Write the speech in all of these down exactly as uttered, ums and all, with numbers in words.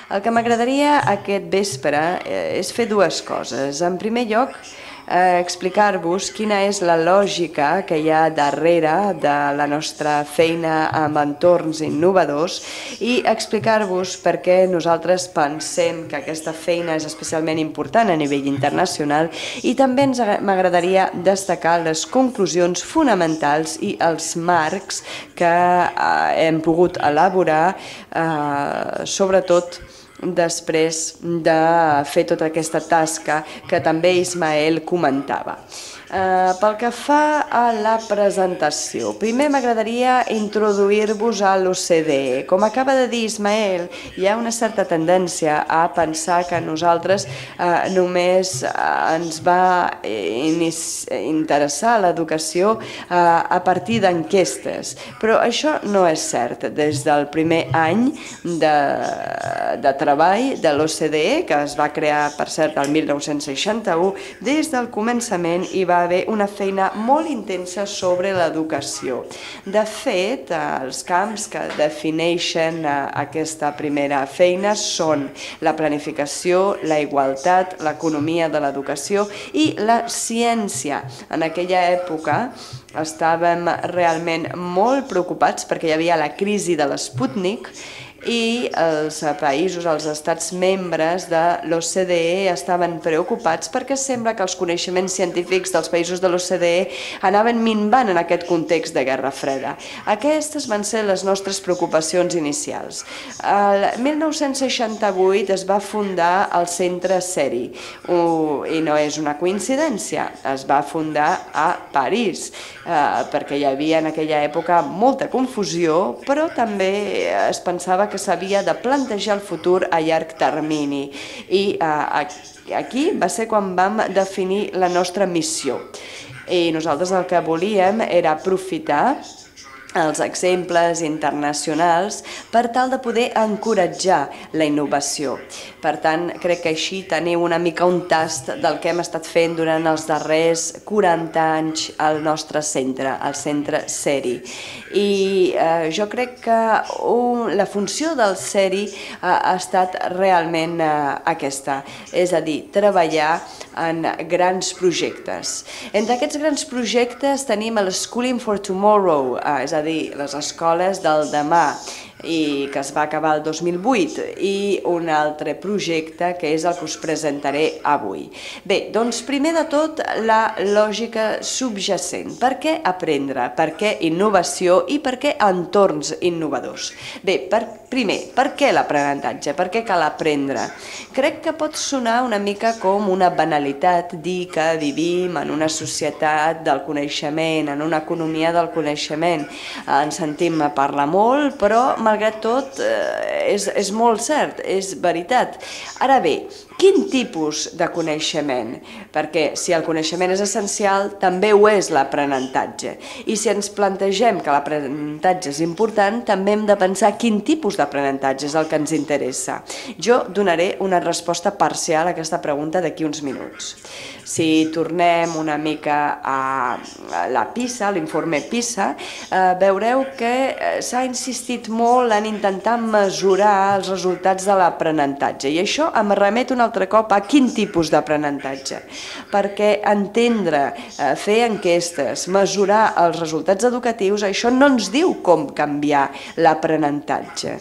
El que m'agradaria aquest vespre és fer dues coses. En primer lloc, eh, explicar-vos quina és la lògica que hi ha darrere de la nostra feina amb entorns innovadors i explicar-vos per què nosaltres pensem que aquesta feina és especialment important a nivell internacional i també ens m'agradaria destacar les conclusions fonamentals i els marcs que eh, hem pogut elaborar, eh, sobretot després de fer tota aquesta tasca que també Ismael comentava. Uh, pel que fa a la presentació, primer m'agradaria introduir-vos a l'O C D E. Com acaba de dir Ismael, hi ha una certa tendència a pensar que nosaltres uh, només uh, ens va interessar l'educació uh, a partir d'enquestes, però això no és cert. Des del primer any de, de treball de l'O C D E, que es va crear, per cert, el mil nou-cents seixanta-u, des del començament hi va haver una feina molt intensa sobre l'educació. De fet, els camps que defineixen aquesta primera feina són la planificació, la igualtat, l'economia de l'educació i la ciència. En aquella època estàvem realment molt preocupats perquè hi havia la crisi de l'Sputnik i els països, els estats membres de l'O C D E estaven preocupats perquè sembla que els coneixements científics dels països de l'O C D E anaven minvant en aquest context de Guerra Freda. Aquestes van ser les nostres preocupacions inicials. El mil nou-cents seixanta-vuit es va fundar el Centre CERI i no és una coincidència, es va fundar a París perquè hi havia en aquella època molta confusió, però també es pensava que que s'havia de plantejar el futur a llarg termini i eh, aquí va ser quan vam definir la nostra missió i nosaltres el que volíem era aprofitar els exemples internacionals per tal de poder encoratjar la innovació. Per tant, crec que així teniu una mica un tast del que hem estat fent durant els darrers quaranta anys al nostre centre, al centre CERI. I eh, jo crec que un, la funció del CERI eh, ha estat realment eh, aquesta, és a dir, treballar en grans projectes. Entre aquests grans projectes tenim el Schooling for Tomorrow, eh, és a dir, les escoles del demà, i que es va acabar el dos mil vuit, i un altre projecte que és el que us presentaré avui. Bé, doncs primer de tot la lògica subjacent. Per què aprendre? Per què innovació i per què entorns innovadors? Bé, per, primer, per què l'aprenentatge? Per què cal aprendre? Crec que pot sonar una mica com una banalitat dir que vivim en una societat del coneixement, en una economia del coneixement. En sentim a parlar molt, però malgrat tot és, és molt cert, és veritat. Ara bé, quin tipus de coneixement? Perquè si el coneixement és essencial, també ho és l'aprenentatge. I si ens plantegem que l'aprenentatge és important, també hem de pensar quin tipus d'aprenentatge és el que ens interessa. Jo donaré una resposta parcial a aquesta pregunta d'aquí uns minuts. Si tornem una mica a la PISA, l'informe PISA, veureu que s'ha insistit molt en intentar mesurar els resultats de l'aprenentatge. I això em remet una altre cop a quin tipus d'aprenentatge. Perquè entendre, fer enquestes, mesurar els resultats educatius, això no ens diu com canviar l'aprenentatge.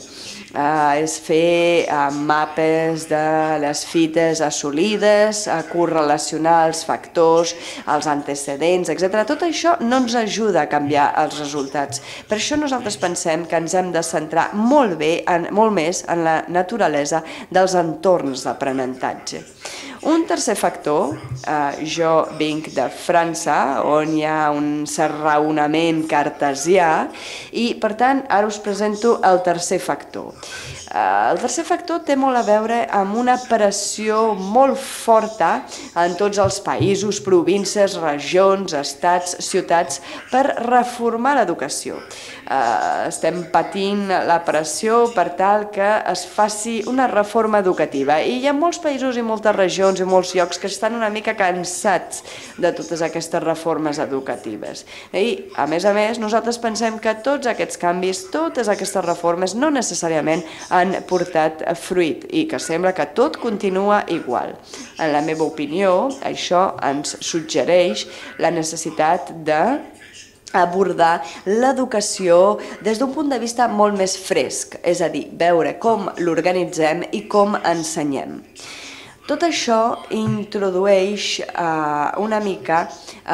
Uh, és fer uh, mapes de les fites assolides, uh, correlacionar els factors, els antecedents, etcètera. Tot això no ens ajuda a canviar els resultats. Per això nosaltres pensem que ens hem de centrar molt bé, en, molt més en la naturalesa dels entorns d'aprenentatge. Un tercer factor, eh, jo vinc de França, on hi ha un cert raonament cartesià, i per tant ara us presento el tercer factor. El tercer factor té molt a veure amb una pressió molt forta en tots els països, províncies, regions, estats, ciutats per reformar l'educació. Estem patint la pressió per tal que es faci una reforma educativa i hi ha molts països i moltes regions institucions i molts llocs que estan una mica cansats de totes aquestes reformes educatives. I, a més a més, nosaltres pensem que tots aquests canvis, totes aquestes reformes no necessàriament han portat fruit i que sembla que tot continua igual. En la meva opinió, això ens suggereix la necessitat de abordar l'educació des d'un punt de vista molt més fresc, és a dir, veure com l'organitzem i com ensenyem. Tot això introdueix eh, una mica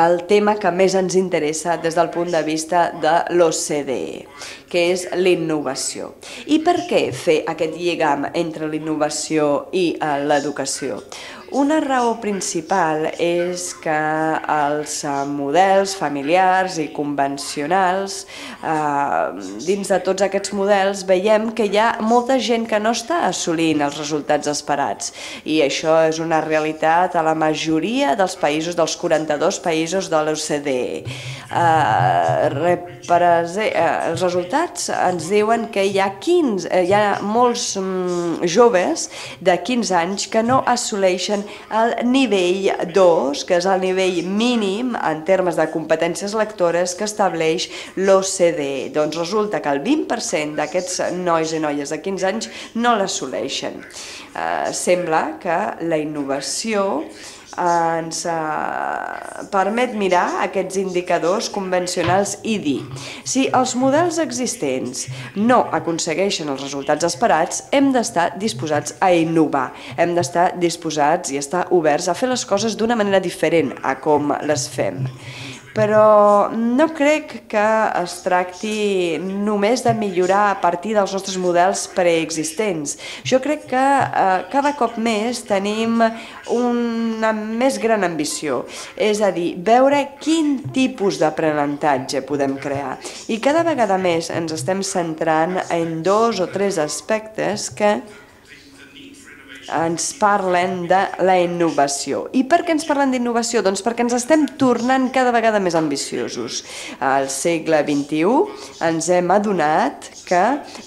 el tema que més ens interessa des del punt de vista de l'O C D E, que és l'innovació. I per què fer aquest lligam entre l'innovació i eh, l'educació? Una raó principal és que els models familiars i convencionals, eh, dins de tots aquests models, veiem que hi ha molta gent que no està assolint els resultats esperats. I això és una realitat a la majoria dels països, dels quaranta-dos països de l'O C D E. Eh, els resultats ens diuen que hi ha, quinze, hi ha molts mm, joves de quinze anys que no assoleixen el nivell dos, que és el nivell mínim en termes de competències lectores que estableix l'O C D E. Doncs resulta que el vint per cent d'aquests nois i noies de quinze anys no l'assoleixen. Eh, sembla que la innovació ens eh, permet mirar aquests indicadors convencionals i dir si els models existents no aconsegueixen els resultats esperats, hem d'estar disposats a innovar, hem d'estar disposats i estar oberts a fer les coses d'una manera diferent a com les fem. Però no crec que es tracti només de millorar a partir dels nostres models preexistents. Jo crec que eh, cada cop més tenim una més gran ambició, és a dir, veure quin tipus d'aprenentatge podem crear. I cada vegada més ens estem centrant en dos o tres aspectes que ens parlen de la innovació. I per què ens parlen d'innovació? Doncs perquè ens estem tornant cada vegada més ambiciosos. Al segle vint-i-u ens hem adonat que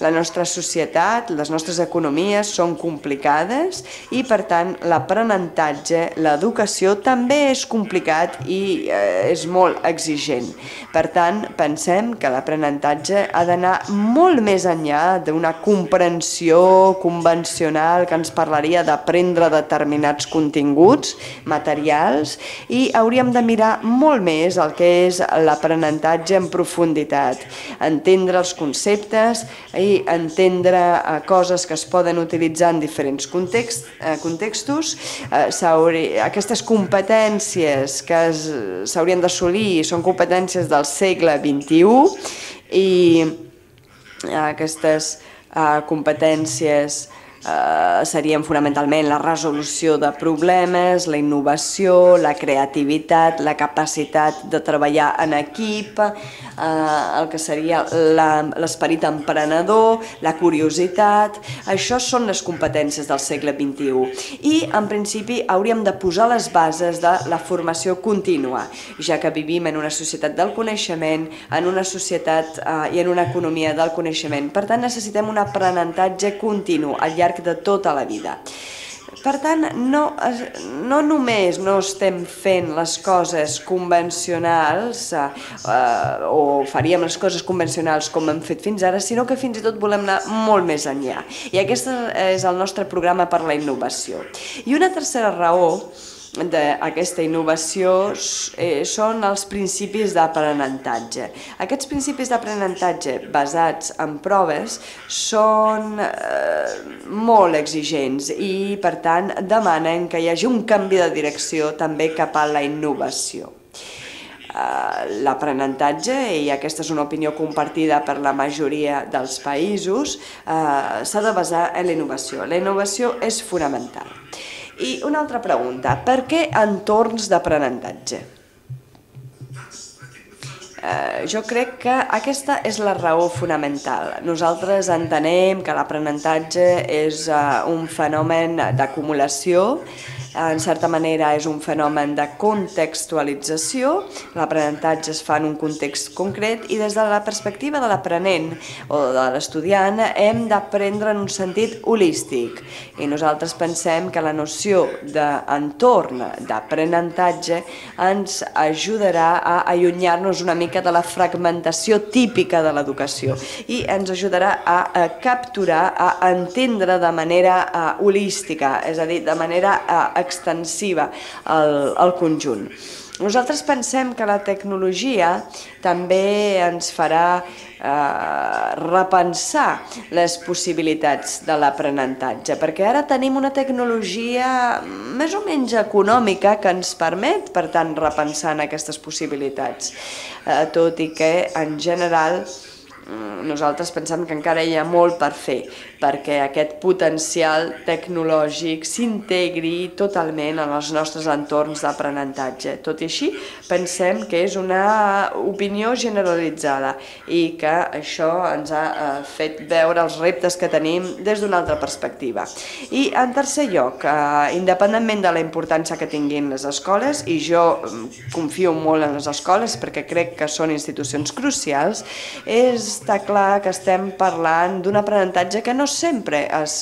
la nostra societat, les nostres economies són complicades i, per tant, l'aprenentatge, l'educació també és complicat i eh, és molt exigent. Per tant, pensem que l'aprenentatge ha d'anar molt més enllà d'una comprensió convencional que ens parlaria d'aprendre determinats continguts materials i hauríem de mirar molt més el que és l'aprenentatge en profunditat, entendre els conceptes i entendre eh, coses que es poden utilitzar en diferents context, eh, contextos. Eh, aquestes competències que s'haurien d'assolir són competències del segle vint-i-u i aquestes eh, competències Uh, serien fonamentalment la resolució de problemes, la innovació, la creativitat, la capacitat de treballar en equip, uh, el que seria l'esperit emprenedor, la curiositat. Això són les competències del segle vint-i-u i en principi hauríem de posar les bases de la formació contínua, ja que vivim en una societat del coneixement, en una societat uh, i en una economia del coneixement. Per tant, necessitem un aprenentatge continu al llarg de tota la vida. Per tant, no, no només no estem fent les coses convencionals eh, o faríem les coses convencionals com hem fet fins ara, sinó que fins i tot volem anar molt més enllà. I aquest és el nostre programa per la innovació. I una tercera raó d'aquesta innovació són els principis d'aprenentatge. Aquests principis d'aprenentatge basats en proves són molt exigents i, per tant, demanen que hi hagi un canvi de direcció també cap a la innovació. L'aprenentatge, i aquesta és una opinió compartida per la majoria dels països, s'ha de basar en la innovació. La innovació és fonamental. I una altra pregunta, per què entorns d'aprenentatge? Eh, jo crec que aquesta és la raó fonamental. Nosaltres entenem que l'aprenentatge és uh, un fenomen d'acumulació en certa manera és un fenomen de contextualització, l'aprenentatge es fa en un context concret i des de la perspectiva de l'aprenent o de l'estudiant hem d'aprendre en un sentit holístic i nosaltres pensem que la noció d'entorn d'aprenentatge ens ajudarà a allunyar-nos una mica de la fragmentació típica de l'educació i ens ajudarà a, a capturar, a entendre de manera a, holística, és a dir, de manera a, extensiva el, el conjunt. Nosaltres pensem que la tecnologia també ens farà eh, repensar les possibilitats de l'aprenentatge, perquè ara tenim una tecnologia més o menys econòmica que ens permet, per tant, repensar en aquestes possibilitats, eh, tot i que, en general, nosaltres pensem que encara hi ha molt per fer perquè aquest potencial tecnològic s'integri totalment en els nostres entorns d'aprenentatge. Tot i així, pensem que és una opinió generalitzada i que això ens ha fet veure els reptes que tenim des d'una altra perspectiva. I, en tercer lloc, independentment de la importància que tinguin les escoles, i jo confio molt en les escoles perquè crec que són institucions crucials, està clar que estem parlant d'un aprenentatge que no sempre es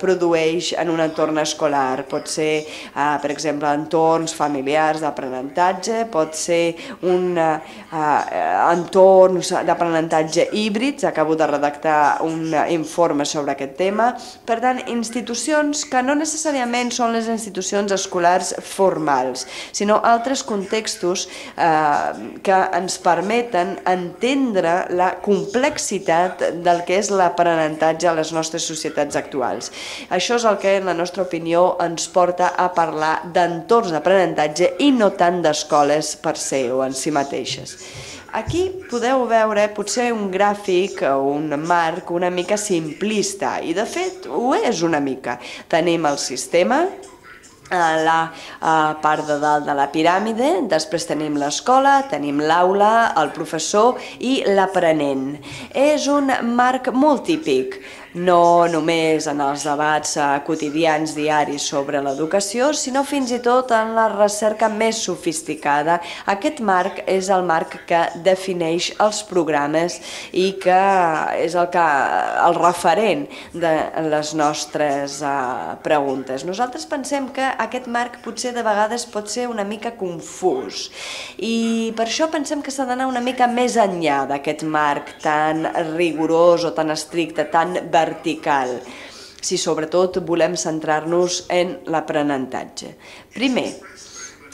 produeix en un entorn escolar. Pot ser, per exemple, entorns familiars d'aprenentatge, pot ser un entorn d'aprenentatge híbrid. Acabo de redactar un informe sobre aquest tema. Per tant, institucions que no necessàriament són les institucions escolars formals, sinó altres contextos que ens permeten entendre la complexitat del que és l'aprenentatge a les nostres societats actuals. Això és el que, en la nostra opinió, ens porta a parlar d'entorns d'aprenentatge i no tant d'escoles per se o en si mateixes. Aquí podeu veure potser un gràfic o un marc una mica simplista, i de fet ho és una mica. Tenim el sistema, la part de dalt de la piràmide, després tenim l'escola, tenim l'aula, el professor i l'aprenent. És un marc molt típic, no només en els debats quotidians diaris sobre l'educació, sinó fins i tot en la recerca més sofisticada. Aquest marc és el marc que defineix els programes i que és el, que, el referent de les nostres uh, preguntes. Nosaltres pensem que aquest marc potser de vegades pot ser una mica confús i per això pensem que s'ha d'anar una mica més enllà d'aquest marc tan rigorós o tan estricte, tan vertical, si sobretot volem centrar-nos en l'aprenentatge. Primer,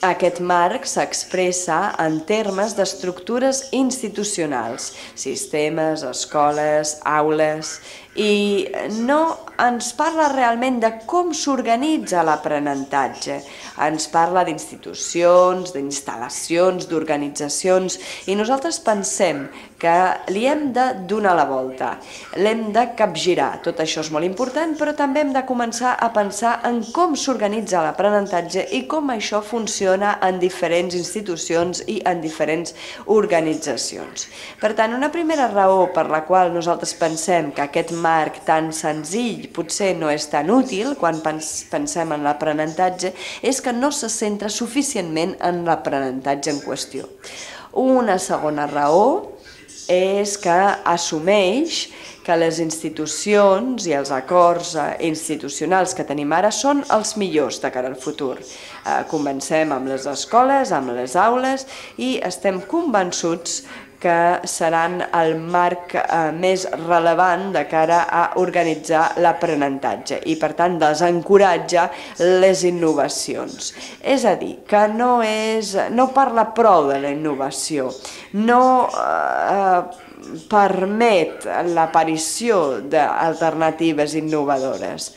aquest marc s'expressa en termes d'estructures institucionals, sistemes, escoles, aules, i no ens parla realment de com s'organitza l'aprenentatge. Ens parla d'institucions, d'instal·lacions, d'organitzacions, i nosaltres pensem que li hem de donar la volta, l'hem de capgirar. Tot això és molt important, però també hem de començar a pensar en com s'organitza l'aprenentatge i com això funciona en diferents institucions i en diferents organitzacions. Per tant, una primera raó per la qual nosaltres pensem que aquest marc tan senzill potser no és tan útil quan pensem en l'aprenentatge és que no se centra suficientment en l'aprenentatge en qüestió. Una segona raó és que assumeix que les institucions i els acords institucionals que tenim ara són els millors de cara al futur. Comencem amb les escoles, amb les aules, i estem convençuts que seran el marc més rellevant de cara a organitzar l'aprenentatge i, per tant, desencoratja les innovacions. És a dir, que no, és, no parla prou de la innovació, no eh, permet l'aparició d'alternatives innovadores.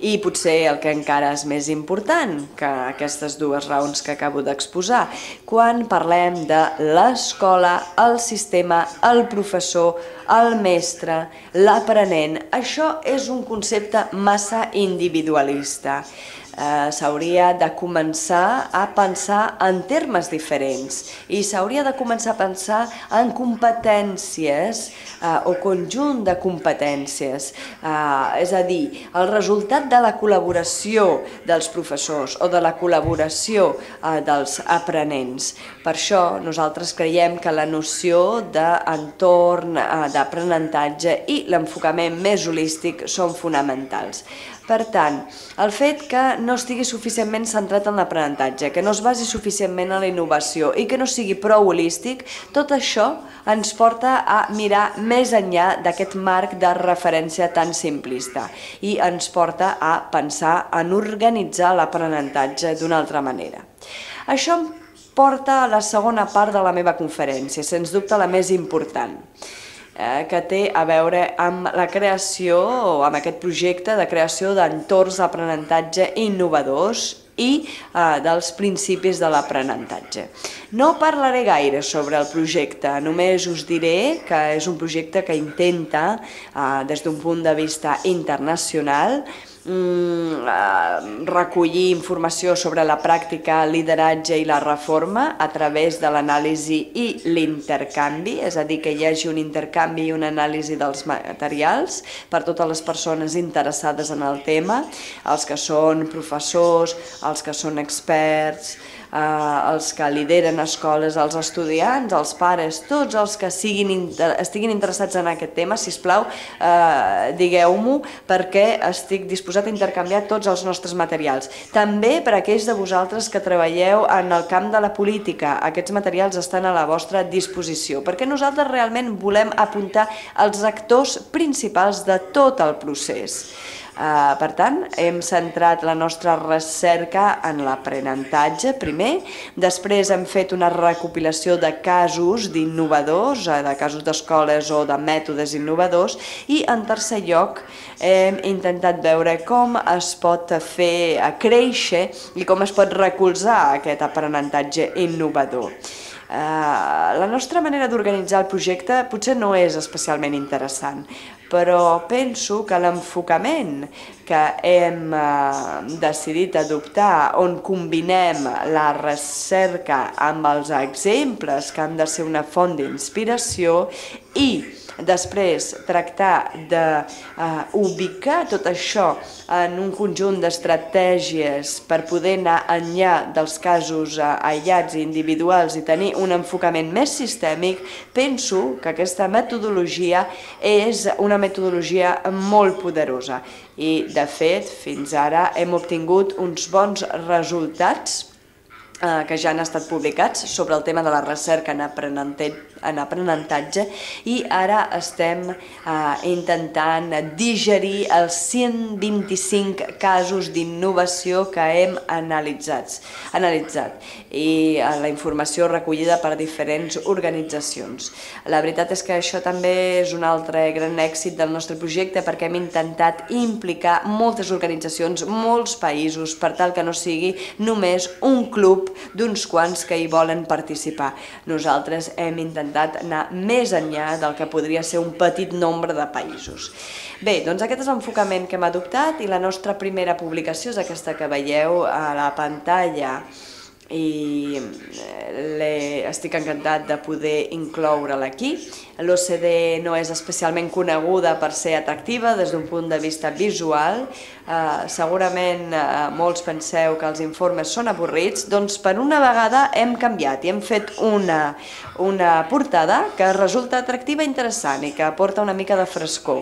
I potser el que encara és més important que aquestes dues raons que acabo d'exposar, quan parlem de l'escola, el sistema, el professor, el mestre, l'aprenent, això és un concepte massa individualista. Eh, s'hauria de començar a pensar en termes diferents i s'hauria de començar a pensar en competències eh, o conjunt de competències. Eh, és a dir, el resultat de la col·laboració dels professors o de la col·laboració eh, dels aprenents. Per això nosaltres creiem que la noció d'entorn, eh, d'aprenentatge i l'enfocament més holístic són fonamentals. Per tant, el fet que no estigui suficientment centrat en l'aprenentatge, que no es basi suficientment en la innovació i que no sigui prou holístic, tot això ens porta a mirar més enllà d'aquest marc de referència tan simplista i ens porta a pensar en organitzar l'aprenentatge d'una altra manera. Això em porta a la segona part de la meva conferència, sens dubte la més important, que té a veure amb la creació o amb aquest projecte de creació d'entorns d'aprenentatge innovadors i eh, dels principis de l'aprenentatge. No parlaré gaire sobre el projecte, només us diré que és un projecte que intenta, eh, des d'un punt de vista internacional, recollir informació sobre la pràctica, el lideratge i la reforma a través de l'anàlisi i l'intercanvi, és a dir, que hi hagi un intercanvi i una anàlisi dels materials per totes les persones interessades en el tema, els que són professors, els que són experts, els que lideren escoles, els estudiants, els pares, tots els que estiguin interessats en aquest tema, sisplau, digueu-m'ho, perquè estic disposat a intercanviar tots els nostres materials. També per a aquells de vosaltres que treballeu en el camp de la política, aquests materials estan a la vostra disposició, perquè nosaltres realment volem apuntar els actors principals de tot el procés. Per tant, hem centrat la nostra recerca en l'aprenentatge primer, després hem fet una recopilació de casos d'innovadors, de casos d'escoles o de mètodes innovadors, i en tercer lloc hem intentat veure com es pot fer créixer i com es pot recolzar aquest aprenentatge innovador. La nostra manera d'organitzar el projecte potser no és especialment interessant, però penso que l'enfocament que hem decidit adoptar, on combinem la recerca amb els exemples que han de ser una font d'inspiració i després tractar d'ubicar tot això en un conjunt d'estratègies per poder anar enllà dels casos aïllats i individuals i tenir un enfocament més sistèmic, penso que aquesta metodologia és una metodologia molt poderosa i, de fet, fins ara hem obtingut uns bons resultats que ja han estat publicats sobre el tema de la recerca en aprenentatge i ara estem intentant digerir els cent vint-i-cinc casos d'innovació que hem analitzat i la informació recollida per diferents organitzacions. La veritat és que això també és un altre gran èxit del nostre projecte perquè hem intentat implicar moltes organitzacions, molts països, per tal que no sigui només un club d'uns quants que hi volen participar. Nosaltres hem intentat anar més enllà del que podria ser un petit nombre de països. Bé, doncs aquest és l'enfocament que hem adoptat i la nostra primera publicació és aquesta que veieu a la pantalla i estic encantat de poder incloure-la aquí. L'O C D E no és especialment coneguda per ser atractiva des d'un punt de vista visual. Segurament molts penseu que els informes són avorrits, doncs per una vegada hem canviat i hem fet una portada que resulta atractiva i interessant i que aporta una mica de frescor.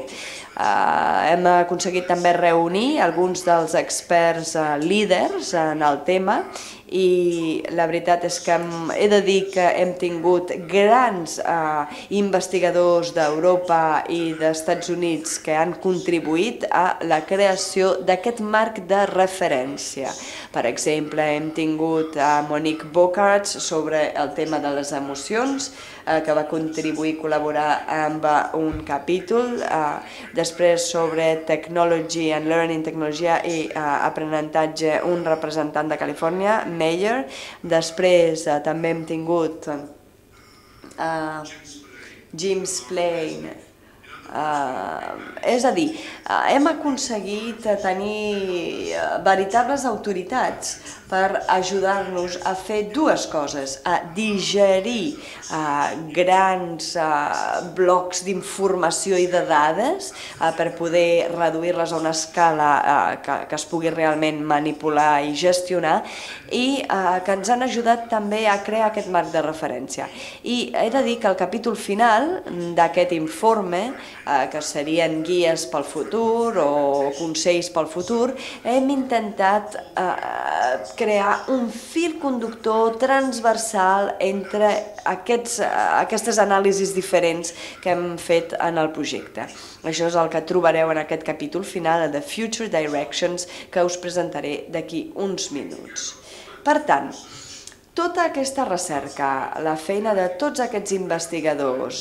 Hem aconseguit també reunir alguns dels experts líders en el tema i la veritat és que he de dir que hem tingut grans investigadors d'Europa i d'Estats Units que han contribuït a la creació d'aquest marc de referència. Per exemple, hem tingut a Monique Bockards sobre el tema de les emocions, que va contribuir a col·laborar amb un capítol, després sobre Technology and Learning, tecnologia i aprenentatge, un representant de Califòrnia, Meyer. Després també hem tingut Jim Splain Uh, és a dir, uh, hem aconseguit tenir veritables autoritats per ajudar-nos a fer dues coses, a digerir uh, grans uh, blocs d'informació i de dades uh, per poder reduir-les a una escala uh, que, que es pugui realment manipular i gestionar, i uh, que ens han ajudat també a crear aquest marc de referència. I he de dir que el capítol final d'aquest informe, eh, que serien guies pel futur o consells pel futur, hem intentat eh, crear un fil conductor transversal entre aquests, aquestes anàlisis diferents que hem fet en el projecte. Això és el que trobareu en aquest capítol final, The Future Directions, que us presentaré d'aquí uns minuts. Per tant, tota aquesta recerca, la feina de tots aquests investigadors,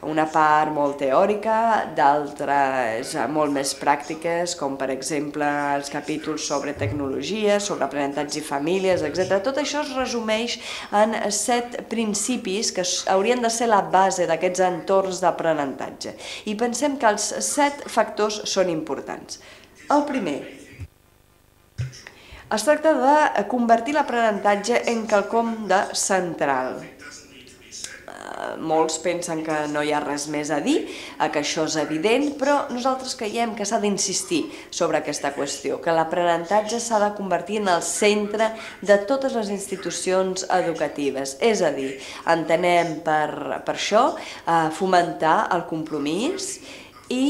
una part molt teòrica, d'altres molt més pràctiques, com per exemple els capítols sobre tecnologia, sobre aprenentatge i famílies, etcètera. Tot això es resumeix en set principis que haurien de ser la base d'aquests entorns d'aprenentatge. I pensem que els set factors són importants. El primer, es tracta de convertir l'aprenentatge en quelcom de central. Molts pensen que no hi ha res més a dir, que això és evident, però nosaltres creiem que s'ha d'insistir sobre aquesta qüestió, que l'aprenentatge s'ha de convertir en el centre de totes les institucions educatives. És a dir, entenem per, per això fomentar el compromís i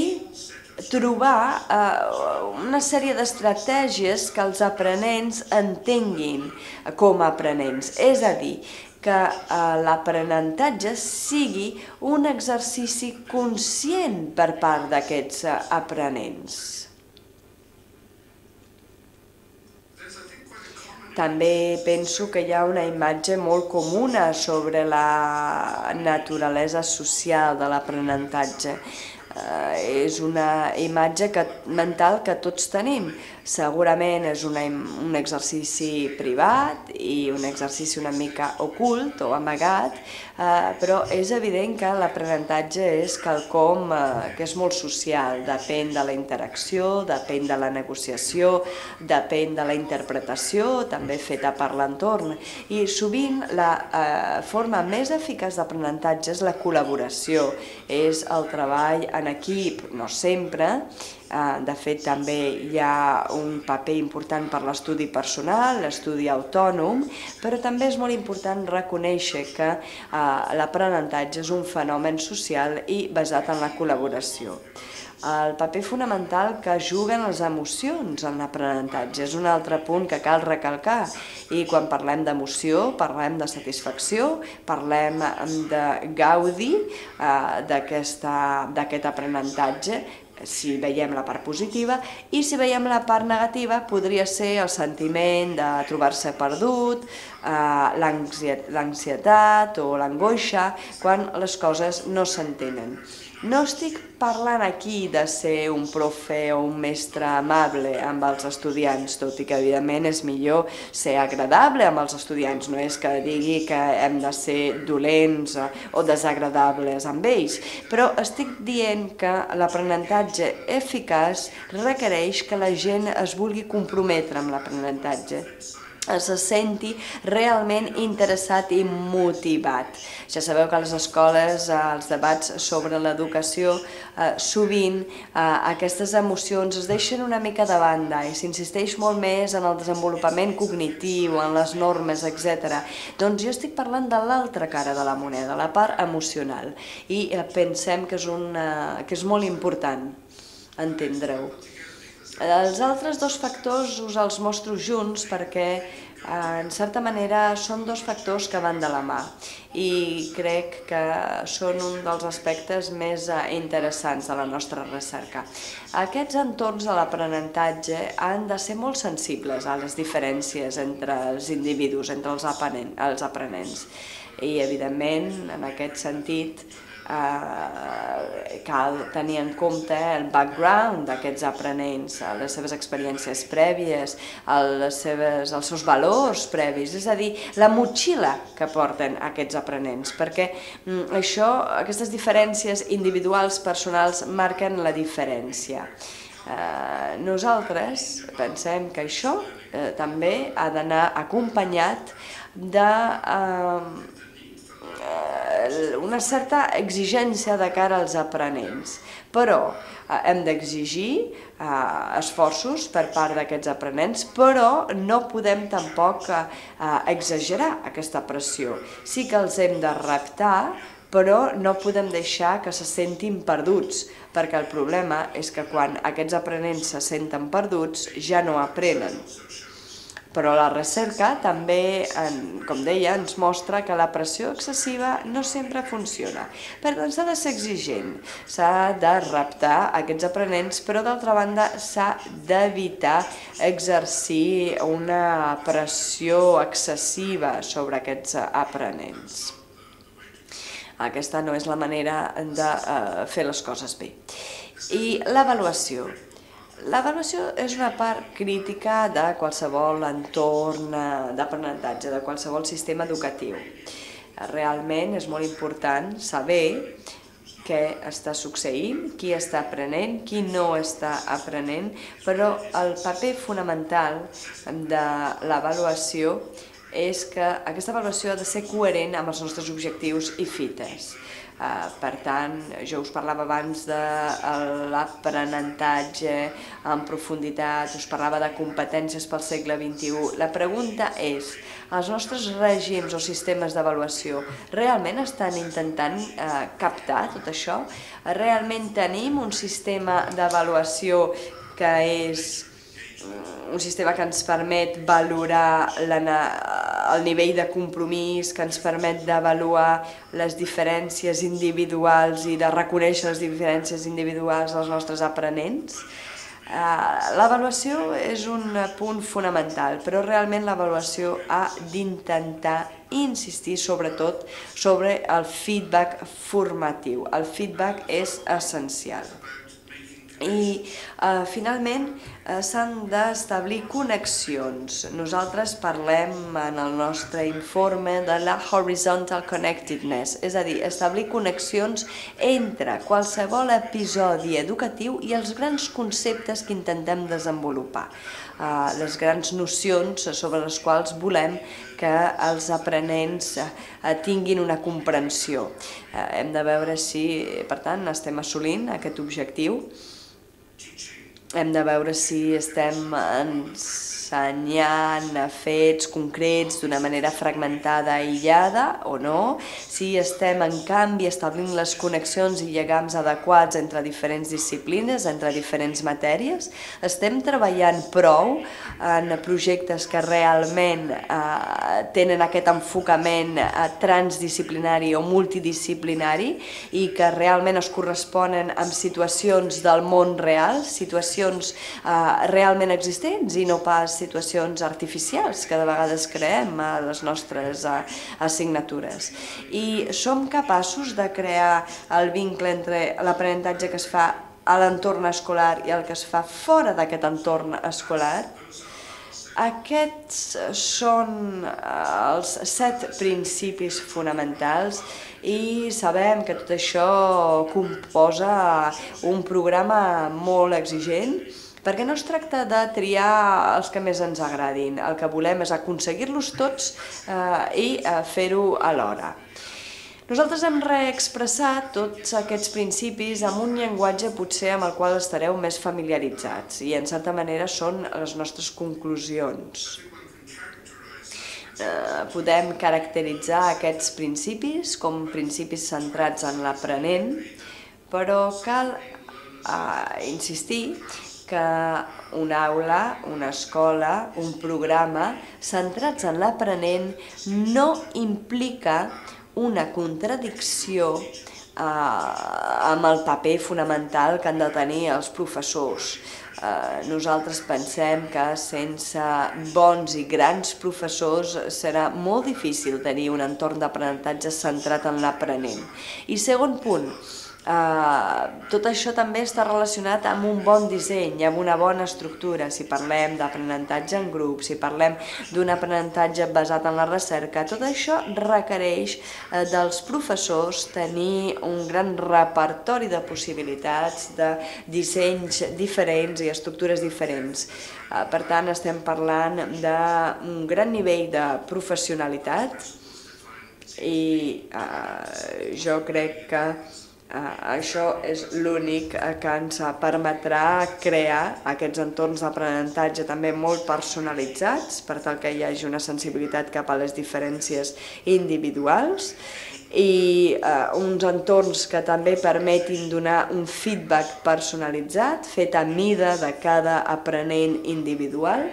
trobar eh, una sèrie d'estratègies que els aprenents entenguin com a aprenents. És a dir, que eh, l'aprenentatge sigui un exercici conscient per part d'aquests eh, aprenents. També penso que hi ha una imatge molt comuna sobre la naturalesa social de l'aprenentatge. Uh, és una imatge que, mental que tots tenim. Segurament és una, un exercici privat i un exercici una mica ocult o amagat, uh, però és evident que l'aprenentatge és quelcom uh, que és molt social, depèn de la interacció, depèn de la negociació, depèn de la interpretació, també feta per l'entorn. I sovint la uh, forma més eficaç d'aprenentatge és la col·laboració, és el treball en equip, no sempre. De fet, també hi ha un paper important per l'estudi personal, l'estudi autònom, però també és molt important reconèixer que l'aprenentatge és un fenomen social i basat en la col·laboració. El paper fonamental que juguen les emocions en l'aprenentatge és un altre punt que cal recalcar, i quan parlem d'emoció parlem de satisfacció, parlem de gaudi d'aquest aprenentatge, si veiem la part positiva, i si veiem la part negativa podria ser el sentiment de trobar-se perdut, l'ansietat o l'angoixa quan les coses no s'entenen. No estic parlant aquí de ser un profe o un mestre amable amb els estudiants, tot i que evidentment és millor ser agradable amb els estudiants, no és que digui que hem de ser dolents o desagradables amb ells, però estic dient que l'aprenentatge eficaç requereix que la gent es vulgui comprometre amb l'aprenentatge, se senti realment interessat i motivat. Ja sabeu que a les escoles, als debats sobre l'educació, sovint aquestes emocions es deixen una mica de banda i s'insisteix molt més en el desenvolupament cognitiu, en les normes, etcètera. Doncs jo estic parlant de l'altra cara de la moneda, la part emocional, i pensem que és, una, que és molt important entendre-ho. Els altres dos factors us els mostro junts perquè, en certa manera, són dos factors que van de la mà i crec que són un dels aspectes més interessants de la nostra recerca. Aquests entorns de l'aprenentatge han de ser molt sensibles a les diferències entre els individus, entre els aprenents. I, evidentment, en aquest sentit, cal tenir en compte el background d'aquests aprenents, les seves experiències prèvies, les seves, els seus valors previs, és a dir, la motxilla que porten aquests aprenents, perquè això, aquestes diferències individuals, personals, marquen la diferència. Eh, nosaltres pensem que això eh, també ha d'anar acompanyat de eh, una certa exigència de cara als aprenents, però eh, hem d'exigir eh, esforços per part d'aquests aprenents, però no podem tampoc eh, exagerar aquesta pressió. Sí que els hem de reptar, però no podem deixar que se sentin perduts, perquè el problema és que quan aquests aprenents se senten perduts ja no aprenen. Però la recerca també, com deia, ens mostra que la pressió excessiva no sempre funciona. Per tant, s'ha de ser exigent, s'ha de reptar aquests aprenents, però d'altra banda s'ha d'evitar exercir una pressió excessiva sobre aquests aprenents. Aquesta no és la manera de fer les coses bé. I l'avaluació. L'avaluació és una part crítica de qualsevol entorn d'aprenentatge, de qualsevol sistema educatiu. Realment és molt important saber què està succeint, qui està aprenent, qui no està aprenent, però el paper fonamental de l'avaluació és que aquesta avaluació ha de ser coherent amb els nostres objectius i fites. Per tant, jo us parlava abans de l'aprenentatge en profunditat, us parlava de competències pel segle vint-i-u. La pregunta és, els nostres règims o sistemes d'avaluació realment estan intentant captar tot això? Realment tenim un sistema d'avaluació que és un sistema que ens permet valorar el nivell de compromís, que ens permet d'avaluar les diferències individuals i de reconèixer les diferències individuals dels nostres aprenents? L'avaluació és un punt fonamental, però realment l'avaluació ha d'intentar insistir sobretot sobre el feedback formatiu. El feedback és essencial. I finalment s'han d'establir connexions. Nosaltres parlem en el nostre informe de la horizontal connectedness, és a dir, establir connexions entre qualsevol episodi educatiu i els grans conceptes que intentem desenvolupar, les grans nocions sobre les quals volem que els aprenents tinguin una comprensió. Hem de veure si, per tant, estem assolint aquest objectiu. Hem de veure si estem ensenyant fets concrets d'una manera fragmentada, aïllada o no, si estem en canvi establint les connexions i lligams adequats entre diferents disciplines, entre diferents matèries, estem treballant prou en projectes que realment tenen aquest enfocament transdisciplinari o multidisciplinari i que realment es corresponen amb situacions del món real, situacions realment existents i no pas situacions artificials que de vegades creem a les nostres assignatures. I som capaços de crear el vincle entre l'aprenentatge que es fa a l'entorn escolar i el que es fa fora d'aquest entorn escolar? Aquests són els set principis fonamentals i sabem que tot això composa un programa molt exigent, perquè no es tracta de triar els que més ens agradin, el que volem és aconseguir-los tots i fer-ho alhora. Nosaltres hem reexpressat tots aquests principis amb un llenguatge potser amb el qual estareu més familiaritzats i en certa manera són les nostres conclusions. Podem caracteritzar aquests principis com principis centrats en l'aprenent, però cal insistir que una aula, una escola, un programa centrats en l'aprenent no implica una contradicció amb el paper fonamental que han de tenir els professors. Nosaltres pensem que sense bons i grans professors serà molt difícil tenir un entorn d'aprenentatge centrat en l'aprenent. I segon punt, tot això també està relacionat amb un bon disseny, amb una bona estructura. Si parlem d'aprenentatge en grup, si parlem d'un aprenentatge basat en la recerca, tot això requereix dels professors tenir un gran repertori de possibilitats, de dissenys diferents i estructures diferents. Per tant, estem parlant d'un gran nivell de professionalitat i jo crec que això és l'únic que ens permetrà crear aquests entorns d'aprenentatge també molt personalitzats, per tal que hi hagi una sensibilitat cap a les diferències individuals i uns entorns que també permetin donar un feedback personalitzat, fet a mida de cada aprenent individual.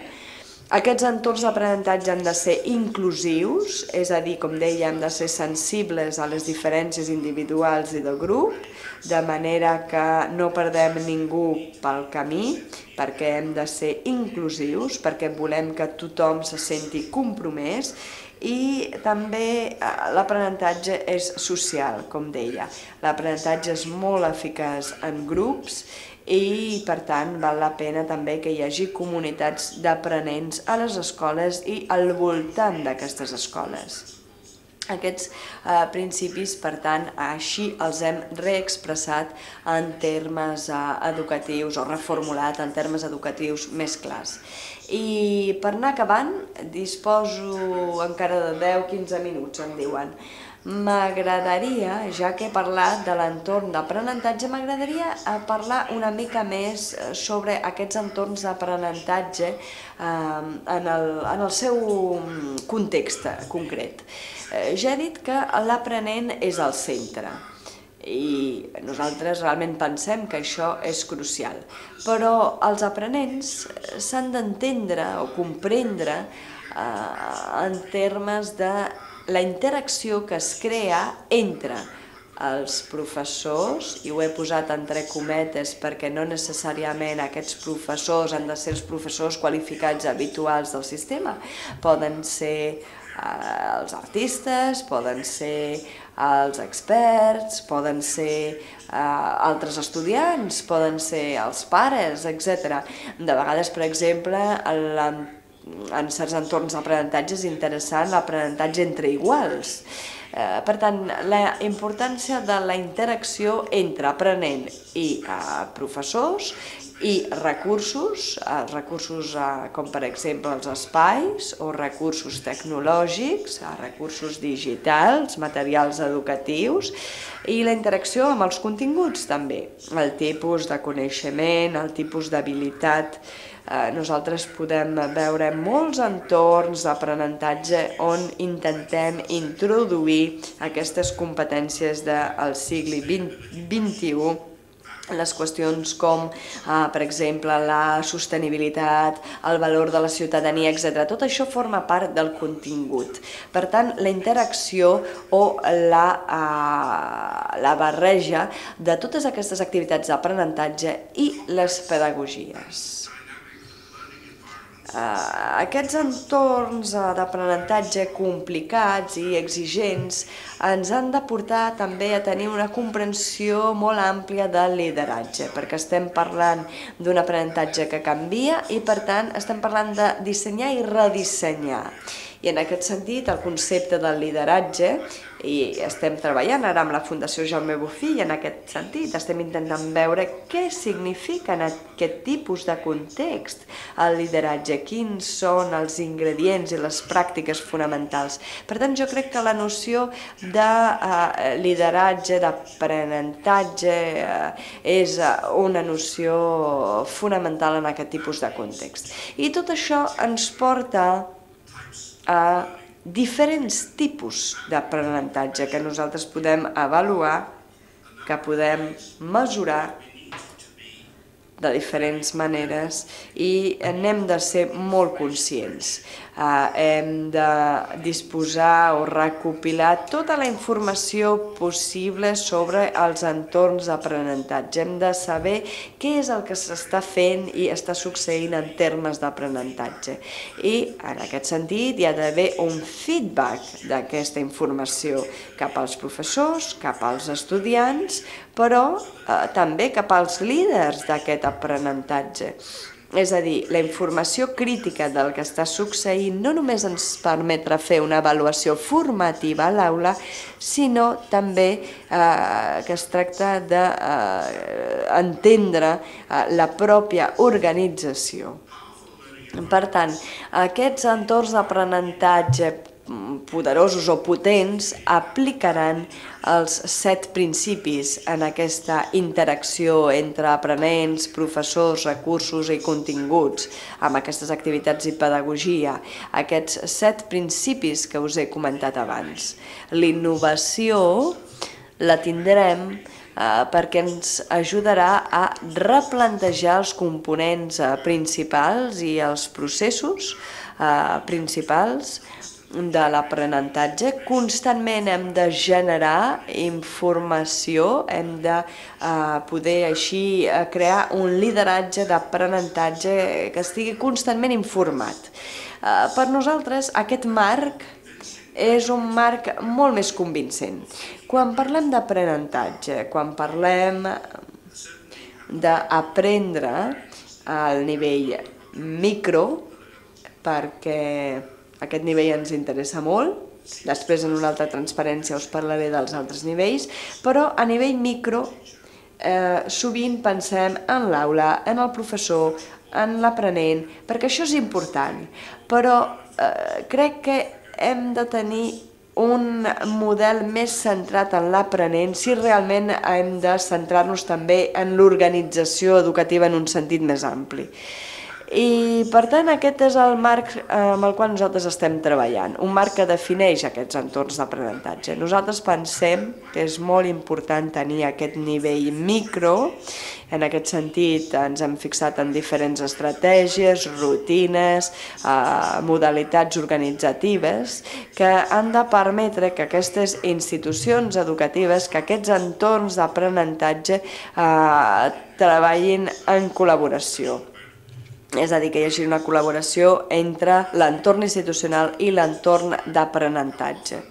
Aquests entorns d'aprenentatge han de ser inclusius, és a dir, com deia, hem de ser sensibles a les diferències individuals i del grup, de manera que no perdem ningú pel camí, perquè hem de ser inclusius, perquè volem que tothom se senti compromès, i també l'aprenentatge és social, com deia. L'aprenentatge és molt eficaç en grups i, per tant, val la pena també que hi hagi comunitats d'aprenents a les escoles i al voltant d'aquestes escoles. Aquests principis, per tant, així els hem reexpressat en termes educatius o reformulat en termes educatius més clars. I per anar acabant, disposo encara de deu a quinze minuts, em diuen. M'agradaria, ja que he parlat de l'entorn d'aprenentatge, m'agradaria parlar una mica més sobre aquests entorns d'aprenentatge en el seu context concret. Ja he dit que l'aprenent és al centre i nosaltres realment pensem que això és crucial, però els aprenents s'han d'entendre o comprendre en termes de la interacció que es crea entre els professors, i ho he posat entre cometes perquè no necessàriament aquests professors han de ser els professors qualificats habituals del sistema, poden ser els artistes, poden ser els experts, poden ser altres estudiants, poden ser els pares, etcètera. De vegades, per exemple, en certs entorns d'aprenentatge és interessant l'aprenentatge entre iguals. Per tant, la importància de la interacció entre aprenent i professors i recursos, recursos com per exemple els espais o recursos tecnològics, recursos digitals, materials educatius i la interacció amb els continguts també, el tipus de coneixement, el tipus d'habilitat. Nosaltres podem veure molts entorns d'aprenentatge on intentem introduir aquestes competències del segle vint-i-u, les qüestions com, per exemple, la sostenibilitat, el valor de la ciutadania, etcètera. Tot això forma part del contingut. Per tant, la interacció o la barreja de totes aquestes activitats d'aprenentatge i les pedagogies. Aquests entorns d'aprenentatge complicats i exigents ens han de portar també a tenir una comprensió molt àmplia del lideratge, perquè estem parlant d'un aprenentatge que canvia i, per tant, estem parlant de dissenyar i redissenyar. I en aquest sentit, el concepte del lideratge, i estem treballant ara amb la Fundació Jaume Bofill en aquest sentit, estem intentant veure què significa en aquest tipus de context el lideratge, quins són els ingredients i les pràctiques fonamentals. Per tant, jo crec que la noció de lideratge, d'aprenentatge, és una noció fonamental en aquest tipus de context. I tot això ens porta a diferents tipus d'aprenentatge que nosaltres podem avaluar, que podem mesurar de diferents maneres i n'hem de ser molt conscients. Hem de disposar o recopilar tota la informació possible sobre els entorns d'aprenentatge. Hem de saber què és el que s'està fent i està succeint en termes d'aprenentatge. I en aquest sentit hi ha d'haver un feedback d'aquesta informació cap als professors, cap als estudiants, però eh, també cap als líders d'aquest aprenentatge. És a dir, la informació crítica del que està succeint no només ens permetrà fer una avaluació formativa a l'aula, sinó també eh, que es tracta d'entendre eh, la pròpia organització. Per tant, aquests entorns d'aprenentatge poderosos o potents aplicaran els set principis en aquesta interacció entre aprenents, professors, recursos i continguts amb aquestes activitats i pedagogia. Aquests set principis que us he comentat abans. L'innovació la tindrem eh, perquè ens ajudarà a replantejar els components eh, principals i els processos eh, principals de l'aprenentatge. Constantment hem de generar informació, hem de eh, poder així eh, crear un lideratge d'aprenentatge que estigui constantment informat. Eh, per nosaltres aquest marc és un marc molt més convincent. Quan parlem d'aprenentatge, quan parlem d'aprendre al nivell micro, perquè aquest nivell ens interessa molt, després en una altra transparència us parlaré dels altres nivells, però a nivell micro eh, sovint pensem en l'aula, en el professor, en l'aprenent, perquè això és important, però eh, crec que hem de tenir un model més centrat en l'aprenent si realment hem de centrar-nos també en l'organització educativa en un sentit més ampli. I per tant aquest és el marc amb el qual nosaltres estem treballant, un marc que defineix aquests entorns d'aprenentatge. Nosaltres pensem que és molt important tenir aquest nivell micro, en aquest sentit ens hem fixat en diferents estratègies, rutines, eh, modalitats organitzatives que han de permetre que aquestes institucions educatives, que aquests entorns d'aprenentatge eh, treballin en col·laboració. És a dir, que hi hagi una col·laboració entre l'entorn institucional i l'entorn d'aprenentatge.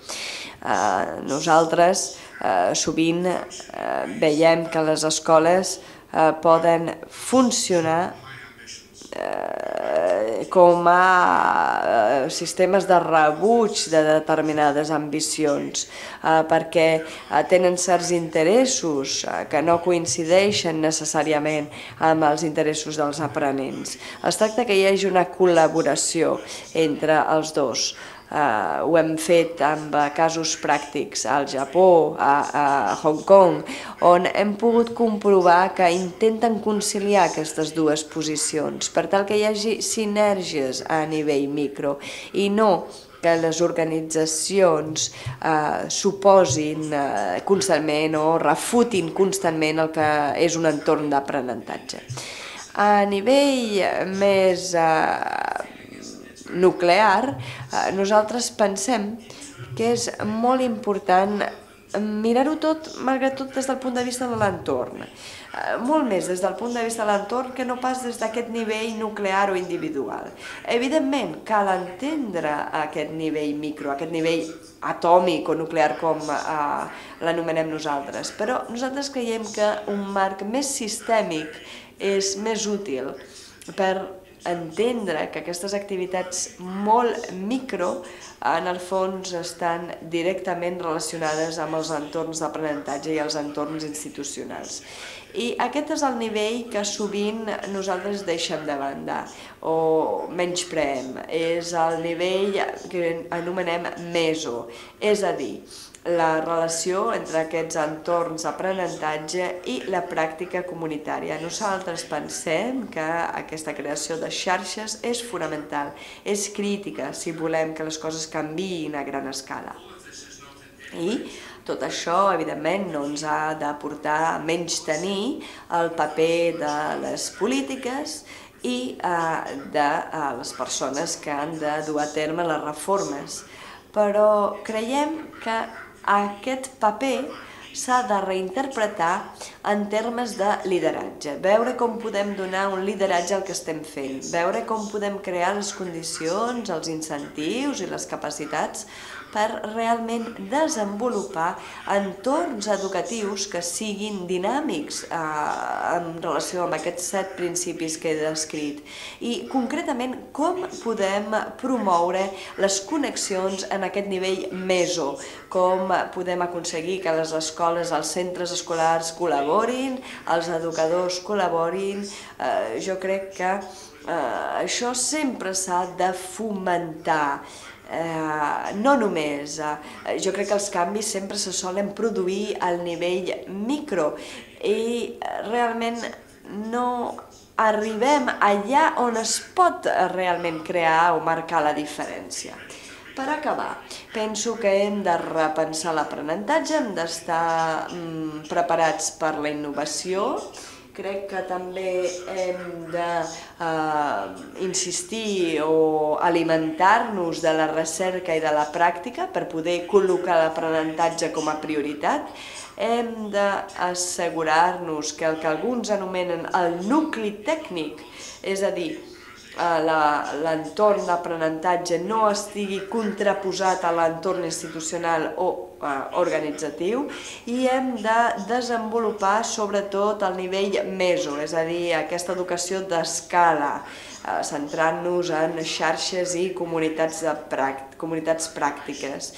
Eh, nosaltres eh, sovint eh, veiem que les escoles eh, poden funcionar eh, com a eh, sistemes de rebuig de determinades ambicions, eh, perquè eh, tenen certs interessos eh, que no coincideixen necessàriament amb els interessos dels aprenents. Es tracta que hi hagi una col·laboració entre els dos. Uh, ho hem fet amb casos pràctics al Japó, a, a Hong Kong, on hem pogut comprovar que intenten conciliar aquestes dues posicions per tal que hi hagi sinergies a nivell micro i no que les organitzacions eh, suposin eh, constantment o refutin constantment el que és un entorn d'aprenentatge. A nivell més eh, nuclear, nosaltres pensem que és molt important mirar-ho tot, malgrat tot, des del punt de vista de l'entorn. Molt més des del punt de vista de l'entorn que no pas des d'aquest nivell nuclear o individual. Evidentment, cal entendre aquest nivell micro, aquest nivell atòmic o nuclear com eh, l'anomenem nosaltres, però nosaltres creiem que un marc més sistèmic és més útil per entendre que aquestes activitats molt micro en el fons estan directament relacionades amb els entorns d'aprenentatge i els entorns institucionals. I aquest és el nivell que sovint nosaltres deixem de banda o menyspreem. És el nivell que anomenem meso, és a dir, la relació entre aquests entorns d'aprenentatge i la pràctica comunitària. Nosaltres pensem que aquesta creació de xarxes és fonamental, és crítica si volem que les coses canviïn a gran escala. I tot això, evidentment, no ens ha de portar a menystenir el paper de les polítiques i de les persones que han de dur a terme les reformes. Però creiem que aquest paper s'ha de reinterpretar en termes de lideratge, veure com podem donar un lideratge al que estem fent, veure com podem crear les condicions, els incentius i les capacitats per realment desenvolupar entorns educatius que siguin dinàmics en relació amb aquests set principis que he descrit. I concretament com podem promoure les connexions en aquest nivell meso, com podem aconseguir que les escoles, els centres escolars col·laborin, els educadors col·laborin. Jo crec que això sempre s'ha de fomentar. No només, jo crec que els canvis sempre se solen produir al nivell micro i realment no arribem allà on es pot realment crear o marcar la diferència. Per acabar, penso que hem de repensar l'aprenentatge, hem d'estar preparats per la innovació. Crec que també hem d'insistir o alimentar-nos de la recerca i de la pràctica per poder col·locar l'aprenentatge com a prioritat. Hem d'assegurar-nos que el que alguns anomenen el nucli tècnic, és a dir, l'entorn d'aprenentatge no estigui contraposat a l'entorn institucional o organitzatiu, i hem de desenvolupar sobretot el nivell meso, és a dir, aquesta educació d'escala, centrant-nos en xarxes i comunitats pràctiques.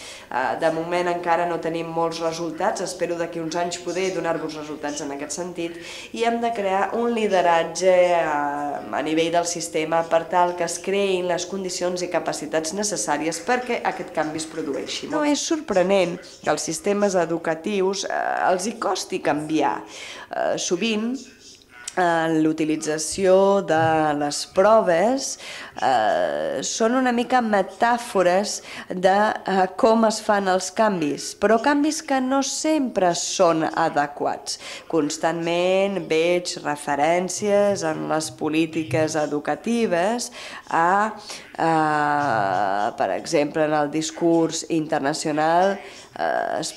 De moment encara no tenim molts resultats, espero d'aquí uns anys poder donar-vos resultats en aquest sentit, i hem de crear un lideratge a nivell del sistema per tal que es creïn les condicions i capacitats necessàries perquè aquest canvi es produeixi. No és sorprenent que als sistemes educatius els hi costi canviar. Sovint, l'utilització de les proves són una mica metàfores de com es fan els canvis, però canvis que no sempre són adequats. Constantment veig referències en les polítiques educatives a, per exemple, en el discurs internacional es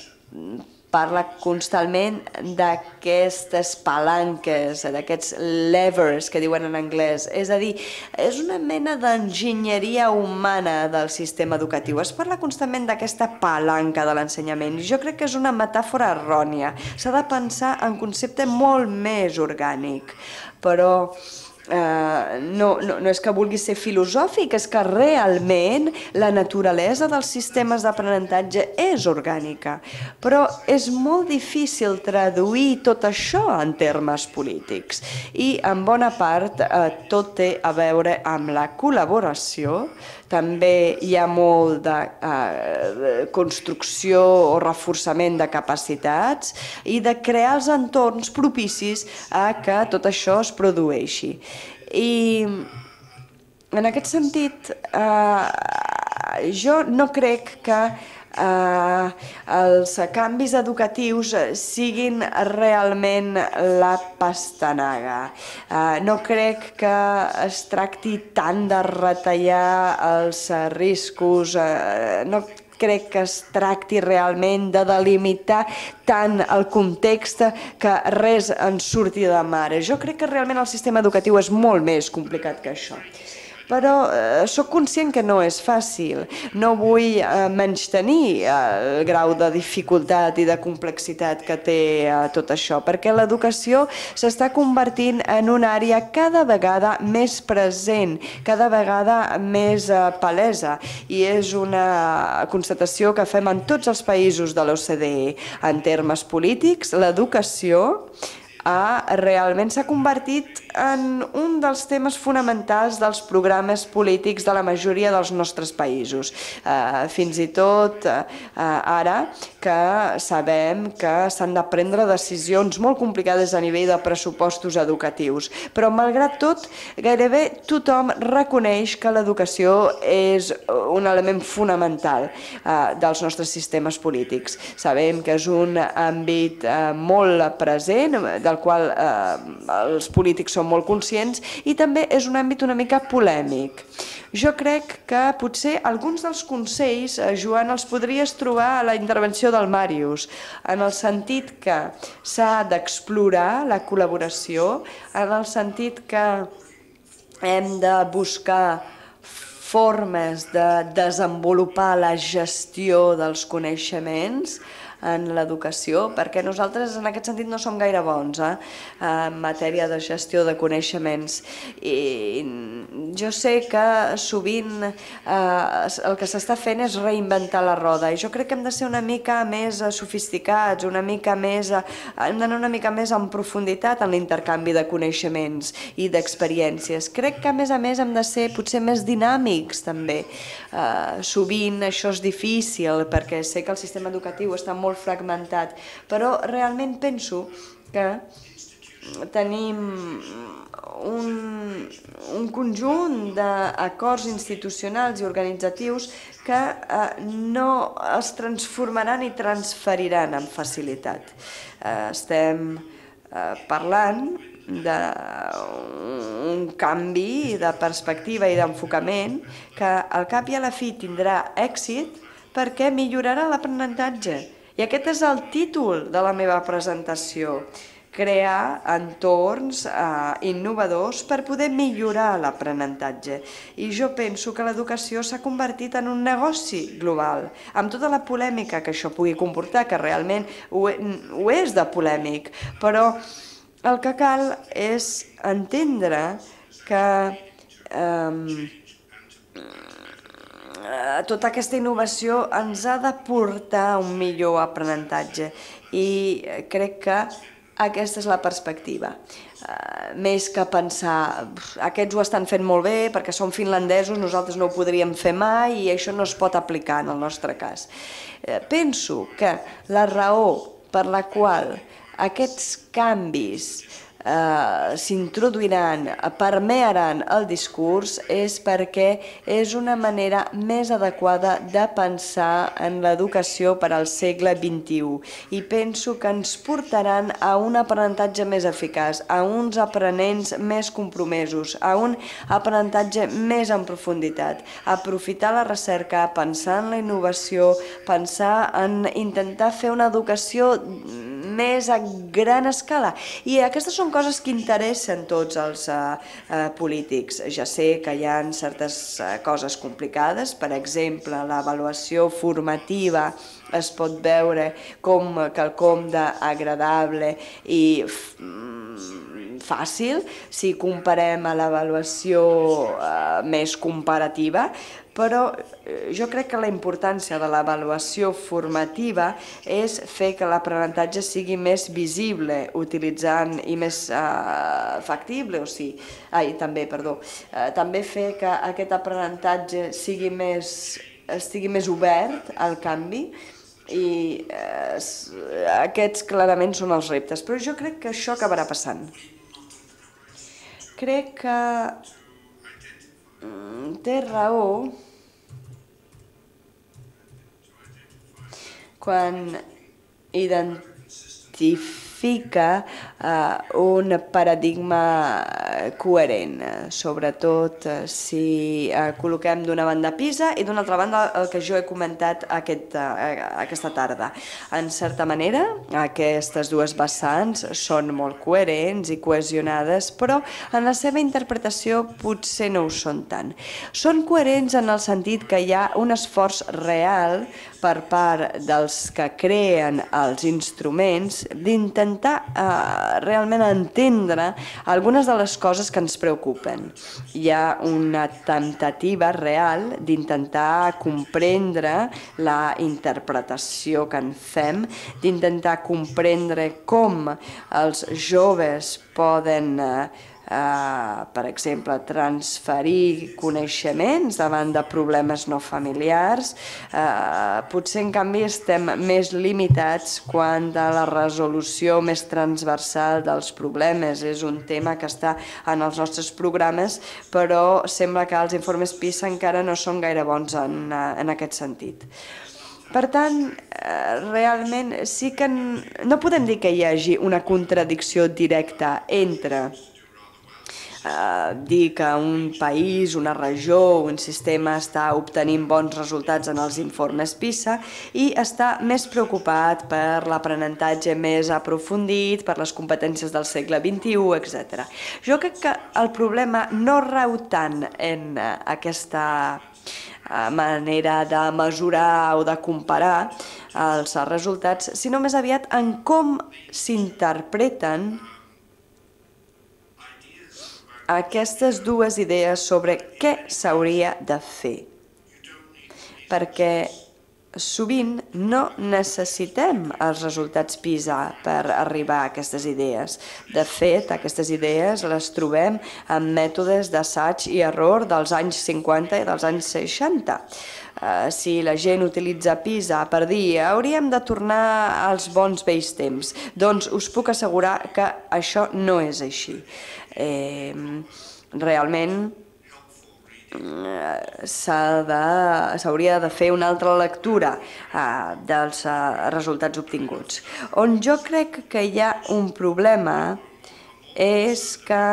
parla constantment d'aquestes palanques, d'aquests levers que diuen en anglès. És a dir, és una mena d'enginyeria humana del sistema educatiu. Es parla constantment d'aquesta palanca de l'ensenyament. Jo crec que és una metàfora errònia. S'ha de pensar en concepte molt més orgànic. Però no és que vulgui ser filosòfic, és que realment la naturalesa dels sistemes d'aprenentatge és orgànica, però és molt difícil traduir tot això en termes polítics i en bona part tot té a veure amb la col·laboració. També hi ha molt de construcció o reforçament de capacitats i de crear els entorns propicis a que tot això es produeixi. I en aquest sentit, jo no crec que els canvis educatius siguin realment la pastanaga. No crec que es tracti tant de retallar els riscos, no crec que es tracti realment de delimitar tant el context que res en surti de mare. Jo crec que realment el sistema educatiu és molt més complicat que això. Però sóc conscient que no és fàcil. No vull menystenir el grau de dificultat i de complexitat que té tot això, perquè l'educació s'està convertint en una àrea cada vegada més present, cada vegada més palesa, i és una constatació que fem en tots els països de l'O C D E. En termes polítics, l'educació realment s'ha convertit en un dels temes fonamentals dels programes polítics de la majoria dels nostres països. Fins i tot ara que sabem que s'han de prendre decisions molt complicades a nivell de pressupostos educatius. Però, malgrat tot, gairebé tothom reconeix que l'educació és un element fonamental dels nostres sistemes polítics. Sabem que és un àmbit molt present, del qual els polítics som som molt conscients, i també és un àmbit una mica polèmic. Jo crec que potser alguns dels consells, Joan, els podries trobar a la intervenció del Màrius, en el sentit que s'ha d'explorar la col·laboració, en el sentit que hem de buscar formes de desenvolupar la gestió dels coneixements en l'educació, perquè nosaltres en aquest sentit no som gaire bons eh, en matèria de gestió de coneixements. I jo sé que sovint eh, el que s'està fent és reinventar la roda, i jo crec que hem de ser una mica més sofisticats, una mica més, hem d'anar una mica més en profunditat en l'intercanvi de coneixements i d'experiències. Crec que a més a més hem de ser potser més dinàmics també. Eh, sovint això és difícil perquè sé que el sistema educatiu està molt fragmentat, però realment penso que tenim un, un conjunt d'acords institucionals i organitzatius que eh, no els transformaran i transferiran amb facilitat. Eh, estem eh, parlant d'un canvi de perspectiva i d'enfocament que al cap i a la fi tindrà èxit perquè millorarà l'aprenentatge. I aquest és el títol de la meva presentació, crear entorns eh, innovadors per poder millorar l'aprenentatge. I jo penso que l'educació s'ha convertit en un negoci global, amb tota la polèmica que això pugui comportar, que realment ho, ho és de polèmic, però el que cal és entendre que eh, tota aquesta innovació ens ha de portar a un millor aprenentatge, i crec que aquesta és la perspectiva. Uh, més que pensar aquests ho estan fent molt bé perquè són finlandesos, nosaltres no ho podríem fer mai i això no es pot aplicar en el nostre cas. Uh, penso que la raó per la qual aquests canvis Uh, s'introduiran, permearan el discurs, és perquè és una manera més adequada de pensar en l'educació per al segle vint-i-u, i penso que ens portaran a un aprenentatge més eficaç, a uns aprenents més compromesos, a un aprenentatge més en profunditat, aprofitar la recerca, pensar en la innovació, pensar en intentar fer una educació més a gran escala. I aquestes són coses que interessen tots els uh, uh, polítics. Ja sé que hi ha certes uh, coses complicades, per exemple, l'avaluació formativa es pot veure com quelcom d'agradable i fàcil si comparem a l'avaluació uh, més comparativa, però jo crec que la importància de l'avaluació formativa és fer que l'aprenentatge sigui més visible, utilitzant i més uh, factible, o sigui, ai, també, perdó, uh, també fer que aquest aprenentatge sigui més, estigui més obert al canvi, i eh, aquests clarament són els reptes, però jo crec que això acabarà passant. Crec que mm, té raó quan identifica uh, un paradigma coherent, sobretot si uh, col·loquem d'una banda PISA i d'una altra banda el que jo he comentat aquest, uh, aquesta tarda. En certa manera, aquestes dues vessants són molt coherents i cohesionades, però en la seva interpretació potser no ho són tant. Són coherents en el sentit que hi ha un esforç real per part dels que creen els instruments d'intentar eh, realment entendre algunes de les coses que ens preocupen. Hi ha una temptativa real d'intentar comprendre la interpretació que en fem, d'intentar comprendre com els joves poden eh, Uh, per exemple, transferir coneixements davant de problemes no familiars. Uh, potser, en canvi, estem més limitats quant a la resolució més transversal dels problemes. És un tema que està en els nostres programes, però sembla que els informes PISA encara no són gaire bons en, en aquest sentit. Per tant, realment sí que no podem dir que hi hagi una contradicció directa entre eh, dir que un país, una regió, un sistema està obtenint bons resultats en els informes PISA i està més preocupat per l'aprenentatge més aprofundit, per les competències del segle vint-i-u, etcètera. Jo crec que el problema no rau tant en eh, aquesta manera de mesurar o de comparar els resultats, sinó més aviat en com s'interpreten aquestes dues idees sobre què s'hauria de fer. Perquè sovint no necessitem els resultats PISA per arribar a aquestes idees. De fet, aquestes idees les trobem en mètodes d'assaig i error dels anys cinquanta i dels anys seixanta. Uh, si la gent utilitza PISA per dir hauríem de tornar als bons vells temps, doncs us puc assegurar que això no és així. Eh, realment s'hauria de, de fer una altra lectura uh, dels uh, resultats obtinguts. On jo crec que hi ha un problema és que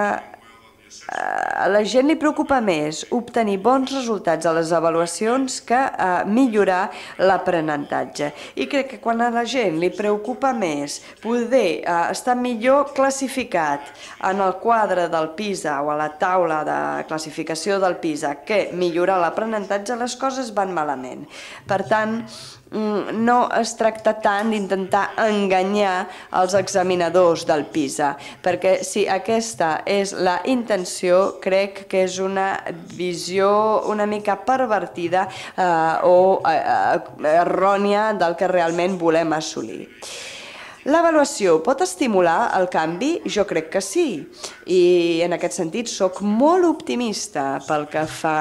a la gent li preocupa més obtenir bons resultats a les avaluacions que uh, millorar l'aprenentatge. I crec que quan a la gent li preocupa més poder uh, estar millor classificat en el quadre del PISA o a la taula de classificació del PISA que millorar l'aprenentatge, les coses van malament. Per tant, no es tracta tant d'intentar enganyar els examinadors del PISA, perquè si aquesta és la intenció, crec que és una visió una mica pervertida eh, o eh, errònia del que realment volem assolir. L'avaluació pot estimular el canvi? Jo crec que sí, i en aquest sentit soc molt optimista pel que fa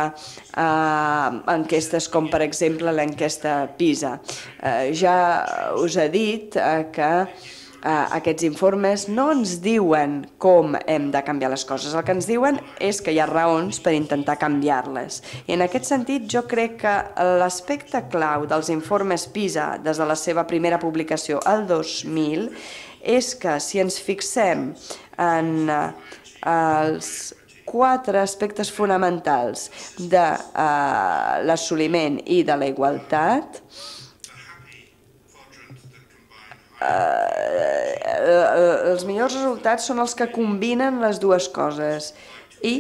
a enquestes com per exemple l'enquesta PISA. Ja us he dit que aquests informes no ens diuen com hem de canviar les coses, el que ens diuen és que hi ha raons per intentar canviar-les. I en aquest sentit jo crec que l'aspecte clau dels informes PISA des de la seva primera publicació al dos mil és que si ens fixem en els quatre aspectes fonamentals de l'assoliment i de la igualtat, els millors resultats són els que combinen les dues coses i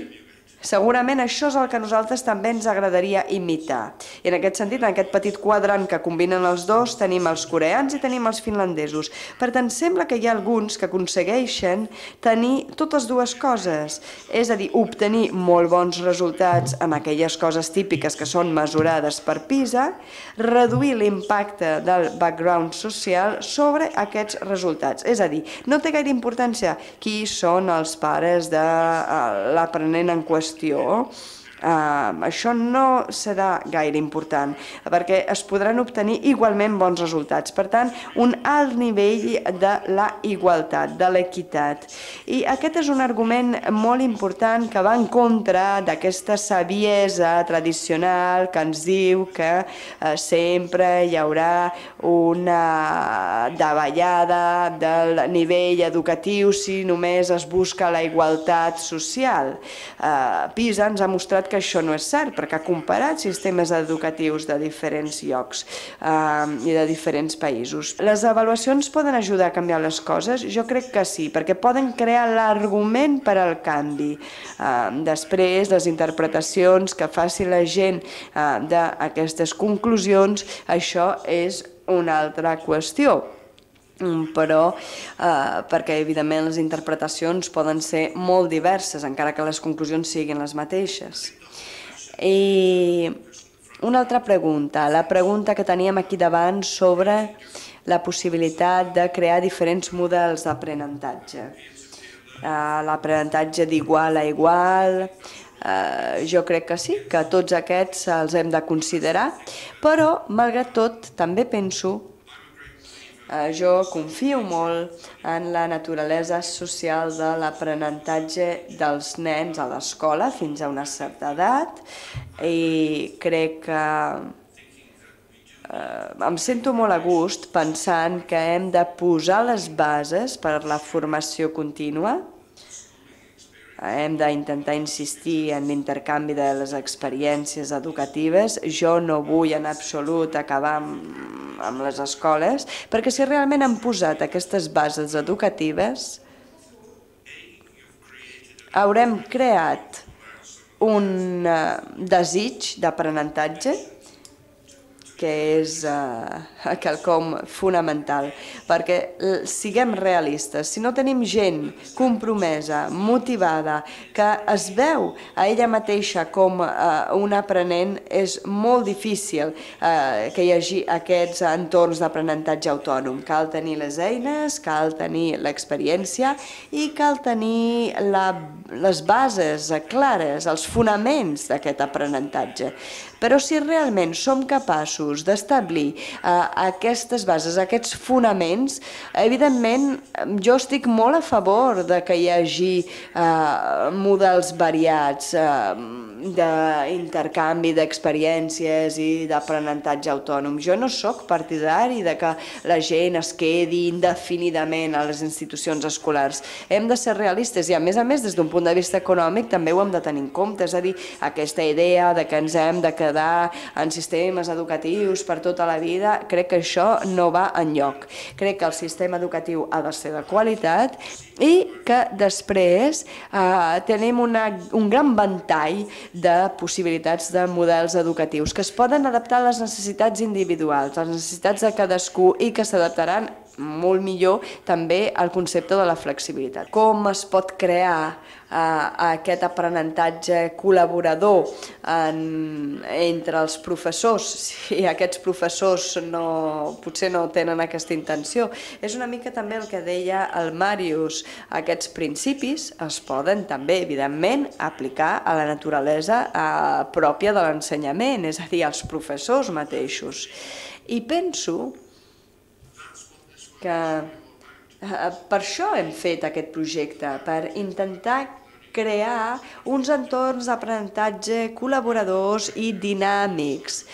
segurament això és el que a nosaltres també ens agradaria imitar. I en aquest sentit, en aquest petit quadrant que combinen els dos, tenim els coreans i tenim els finlandesos. Per tant, sembla que hi ha alguns que aconsegueixen tenir totes dues coses, és a dir, obtenir molt bons resultats en aquelles coses típiques que són mesurades per PISA, reduir l'impacte del background social sobre aquests resultats. És a dir, no té gaire importància qui són els pares de l'aprenent en qüestió. Uh, això no serà gaire important perquè es podran obtenir igualment bons resultats. Per tant, un alt nivell de la igualtat, de l'equitat. I aquest és un argument molt important que va en contra d'aquesta saviesa tradicional que ens diu que uh, sempre hi haurà una davallada del nivell educatiu si només es busca la igualtat social. Uh, PISA ens ha mostrat que això no és cert, perquè ha comparat sistemes educatius de diferents llocs eh, i de diferents països. Les avaluacions poden ajudar a canviar les coses? Jo crec que sí, perquè poden crear l'argument per al canvi. Eh, després, les interpretacions que faci la gent eh, d'aquestes conclusions, això és una altra qüestió. Però eh, perquè evidentment les interpretacions poden ser molt diverses, encara que les conclusions siguin les mateixes. I una altra pregunta, la pregunta que teníem aquí davant sobre la possibilitat de crear diferents models d'aprenentatge. Eh, l'aprenentatge d'igual a igual, eh, jo crec que sí, que tots aquests els hem de considerar, però malgrat tot també penso jo confio molt en la naturalesa social de l'aprenentatge dels nens a l'escola fins a una certa edat i crec que eh, em sento molt a gust pensant que hem de posar les bases per a la formació contínua hem d'intentar insistir en l'intercanvi de les experiències educatives. Jo no vull en absolut acabar amb, amb les escoles, perquè si realment han posat aquestes bases educatives, haurem creat un desig d'aprenentatge que és uh, quelcom fonamental, perquè siguem realistes, si no tenim gent compromesa, motivada, que es veu a ella mateixa com uh, un aprenent, és molt difícil uh, que hi hagi aquests entorns d'aprenentatge autònom. Cal tenir les eines, cal tenir l'experiència i cal tenir la, les bases clares, els fonaments d'aquest aprenentatge. Però si realment som capaços d'establir uh, aquestes bases, aquests fonaments, evidentment jo estic molt a favor de que hi hagi uh, models variats uh, d'intercanvi d'experiències i d'aprenentatge autònom. Jo no sóc partidari de que la gent es quedi indefinidament a les institucions escolars. Hem de ser realistes i, a més a més, des d'un punt de vista econòmic també ho hem de tenir en compte. És a dir, aquesta idea de que ens hem de quedar en sistemes educatius per tota la vida, crec que això no va enlloc. Crec que el sistema educatiu ha de ser de qualitat i que després eh, tenim una, un gran ventall de possibilitats de models educatius que es poden adaptar a les necessitats individuals, a les necessitats de cadascú i que s'adaptaran molt millor també al concepte de la flexibilitat. Com es pot crear eh, aquest aprenentatge col·laborador en, entre els professors, si aquests professors no, potser no tenen aquesta intenció? És una mica també el que deia el Màrius. Aquests principis es poden també, evidentment, aplicar a la naturalesa eh, pròpia de l'ensenyament, és a dir, als professors mateixos. I penso que per això hem fet aquest projecte, per intentar crear uns entorns d'aprenentatge col·laboradors i dinàmics,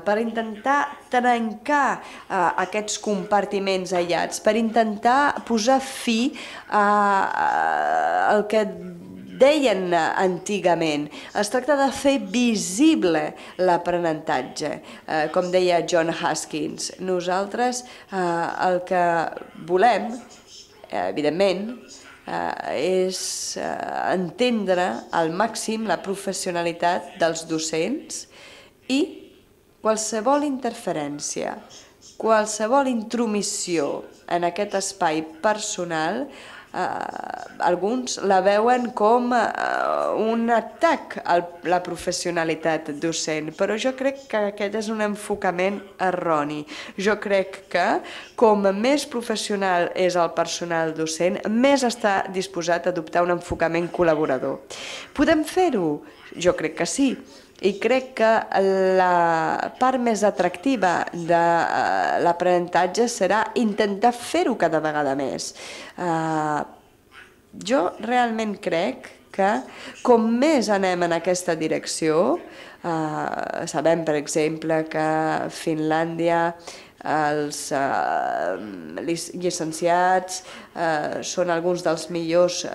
per intentar trencar aquests compartiments aïllats, per intentar posar fi al que deien antigament. Es tracta de fer visible l'aprenentatge, eh, com deia John Haskins. Nosaltres eh, el que volem, eh, evidentment, eh, és eh, entendre al màxim la professionalitat dels docents i qualsevol interferència, qualsevol intromissió en aquest espai personal, Uh, alguns la veuen com uh, un atac a la professionalitat docent, però jo crec que aquest és un enfocament erroni. Jo crec que com més professional és el personal docent, més està disposat a adoptar un enfocament col·laborador. Podem fer-ho? Jo crec que sí. I crec que la part més atractiva de l'aprenentatge serà intentar fer-ho cada vegada més. Jo realment crec que com més anem en aquesta direcció, sabem, per exemple, que a Finlàndia els llicenciats són alguns dels millors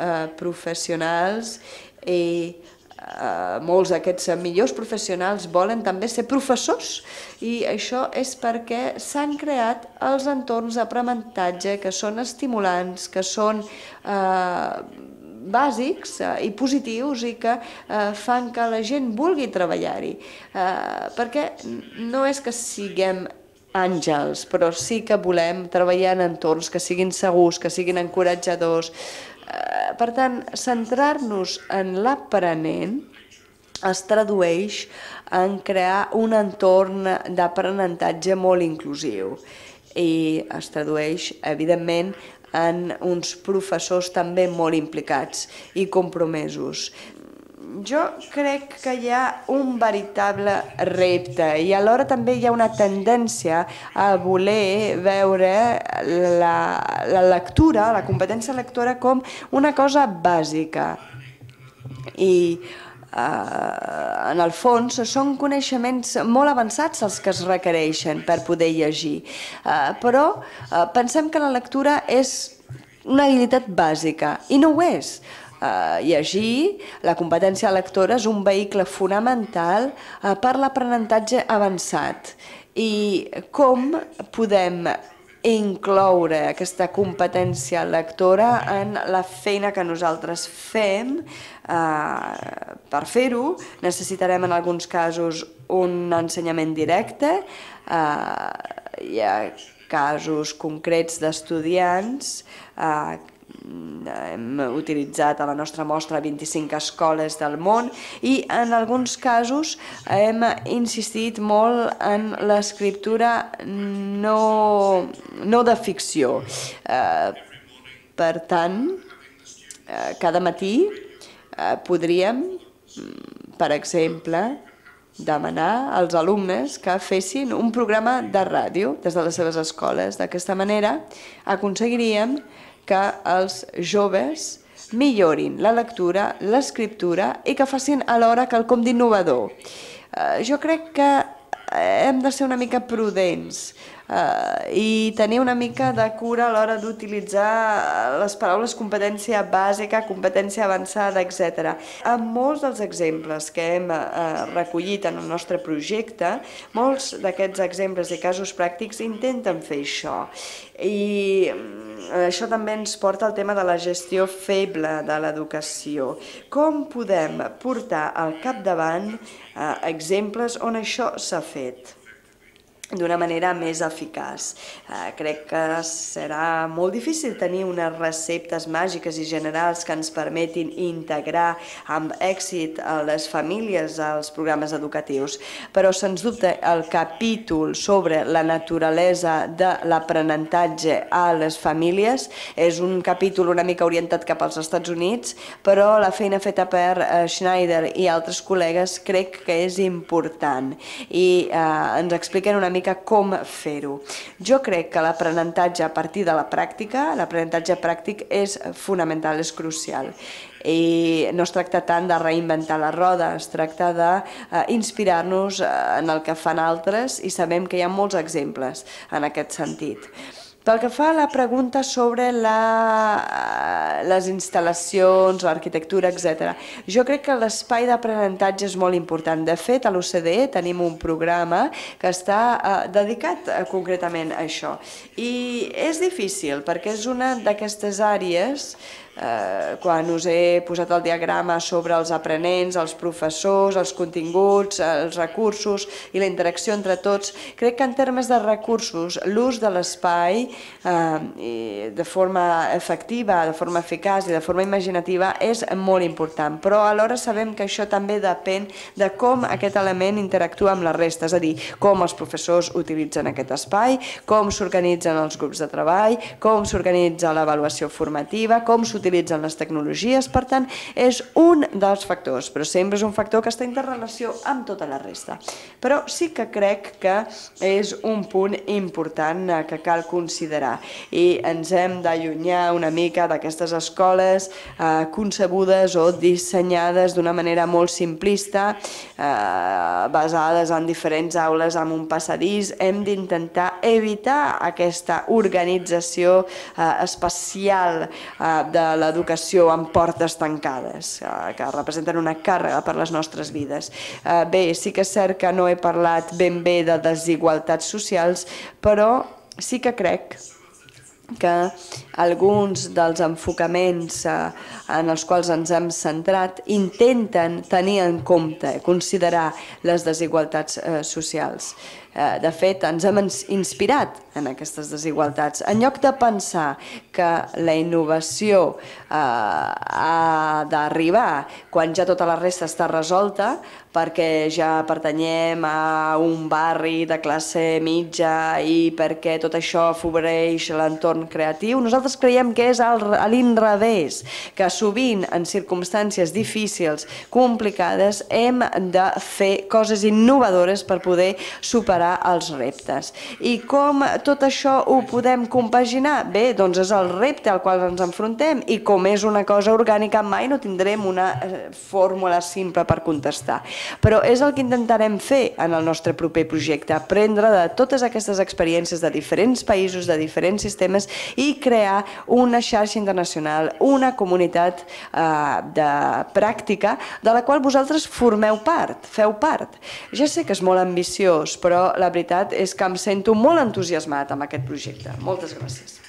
professionals i Uh, molts d'aquests millors professionals volen també ser professors, i això és perquè s'han creat els entorns d'aprenentatge que són estimulants, que són uh, bàsics uh, i positius i que uh, fan que la gent vulgui treballar-hi, uh, perquè no és que siguem àngels, però sí que volem treballar en entorns que siguin segurs, que siguin encoratjadors. Per tant, centrar-nos en l'aprenent es tradueix en crear un entorn d'aprenentatge molt inclusiu i es tradueix, evidentment, en uns professors també molt implicats i compromesos. Jo crec que hi ha un veritable repte i alhora també hi ha una tendència a voler veure la, la lectura, la competència lectora, com una cosa bàsica. I Uh, en el fons són coneixements molt avançats els que es requereixen per poder llegir, uh, però uh, pensem que la lectura és una habilitat bàsica i no ho és. llegir, la competència lectora és un vehicle fonamental per l'aprenentatge avançat. I com podem incloure aquesta competència lectora en la feina que nosaltres fem? Per fer-ho necessitarem en alguns casos un ensenyament directe, hi ha casos concrets d'estudiants, hem utilitzat a la nostra mostra vint-i-cinc escoles del món i en alguns casos hem insistit molt en l'escriptura no, no de ficció. Per tant, cada matí podríem, per exemple, demanar als alumnes que fessin un programa de ràdio des de les seves escoles. D'aquesta manera aconseguiríem que els joves millorin la lectura, l'escriptura i que facin alhora quelcom d'innovador. Jo crec que hem de ser una mica prudents i tenir una mica de cura a l'hora d'utilitzar les paraules competència bàsica, competència avançada, etcètera. En molts dels exemples que hem recollit en el nostre projecte, molts d'aquests exemples i casos pràctics intenten fer això. I això també ens porta al tema de la gestió feble de l'educació. Com podem portar al capdavant exemples on això s'ha fet d'una manera més eficaç? Crec que serà molt difícil tenir unes receptes màgiques i generals que ens permetin integrar amb èxit a les famílies als programes educatius, però sens dubte el capítol sobre la naturalesa de l'aprenentatge a les famílies és un capítol una mica orientat cap als Estats Units, però la feina feta per Schneider i altres col·legues crec que és important i ens expliquen una mica com fer-ho. Jo crec que l'aprenentatge a partir de la pràctica, l'aprenentatge pràctic és fonamental, és crucial. I no es tracta tant de reinventar la roda, es tracta d'inspirar-nos en el que fan altres i sabem que hi ha molts exemples en aquest sentit. Pel que fa a la pregunta sobre les instal·lacions, l'arquitectura, etcètera, jo crec que l'espai d'aprenentatge és molt important. De fet, a l'O C D E tenim un programa que està dedicat concretament a això. I és difícil perquè és una d'aquestes àrees, quan us he posat el diagrama sobre els aprenents, els professors, els continguts, els recursos i la interacció entre tots, crec que en termes de recursos, l'ús de l'espai de forma efectiva, de forma eficaç i de forma imaginativa és molt important, però alhora sabem que això també depèn de com aquest element interactua amb la resta, és a dir, com els professors utilitzen aquest espai, com s'organitzen els grups de treball, com s'organitza l'avaluació formativa, com s'utilitzen les tecnologies. Per tant, és un dels factors, però sempre és un factor que està en interrelació amb tota la resta. Però sí que crec que és un punt important que cal considerar i ens hem d'allunyar una mica d'aquestes escoles concebudes o dissenyades d'una manera molt simplista, basades en diferents aules amb un passadís. Hem d'intentar evitar aquesta organització espacial de l'educació amb portes tancades, que representen una càrrega per les nostres vides. Bé, sí que és cert que no he parlat ben bé de desigualtats socials, però sí que crec que alguns dels enfocaments en els quals ens hem centrat intenten tenir en compte, considerar les desigualtats socials. De fet, ens hem inspirat en aquestes desigualtats. En lloc de pensar que la innovació ha d'arribar quan ja tota la resta està resolta, perquè ja pertanyem a un barri de classe mitja i perquè tot això afavoreix l'entorn creatiu, nosaltres creiem que és a l'inrevés, que sovint en circumstàncies difícils, complicades, hem de fer coses innovadores per poder superar superar els reptes. I com tot això ho podem compaginar? Bé, doncs és el repte al qual ens enfrontem i com és una cosa orgànica mai no tindrem una fórmula simple per contestar. Però és el que intentarem fer en el nostre proper projecte, aprendre de totes aquestes experiències de diferents països, de diferents sistemes i crear una xarxa internacional, una comunitat eh, de pràctica de la qual vosaltres formeu part, feu part. Ja sé que és molt ambiciós, però la veritat és que em sento molt entusiasmat amb aquest projecte. Moltes gràcies.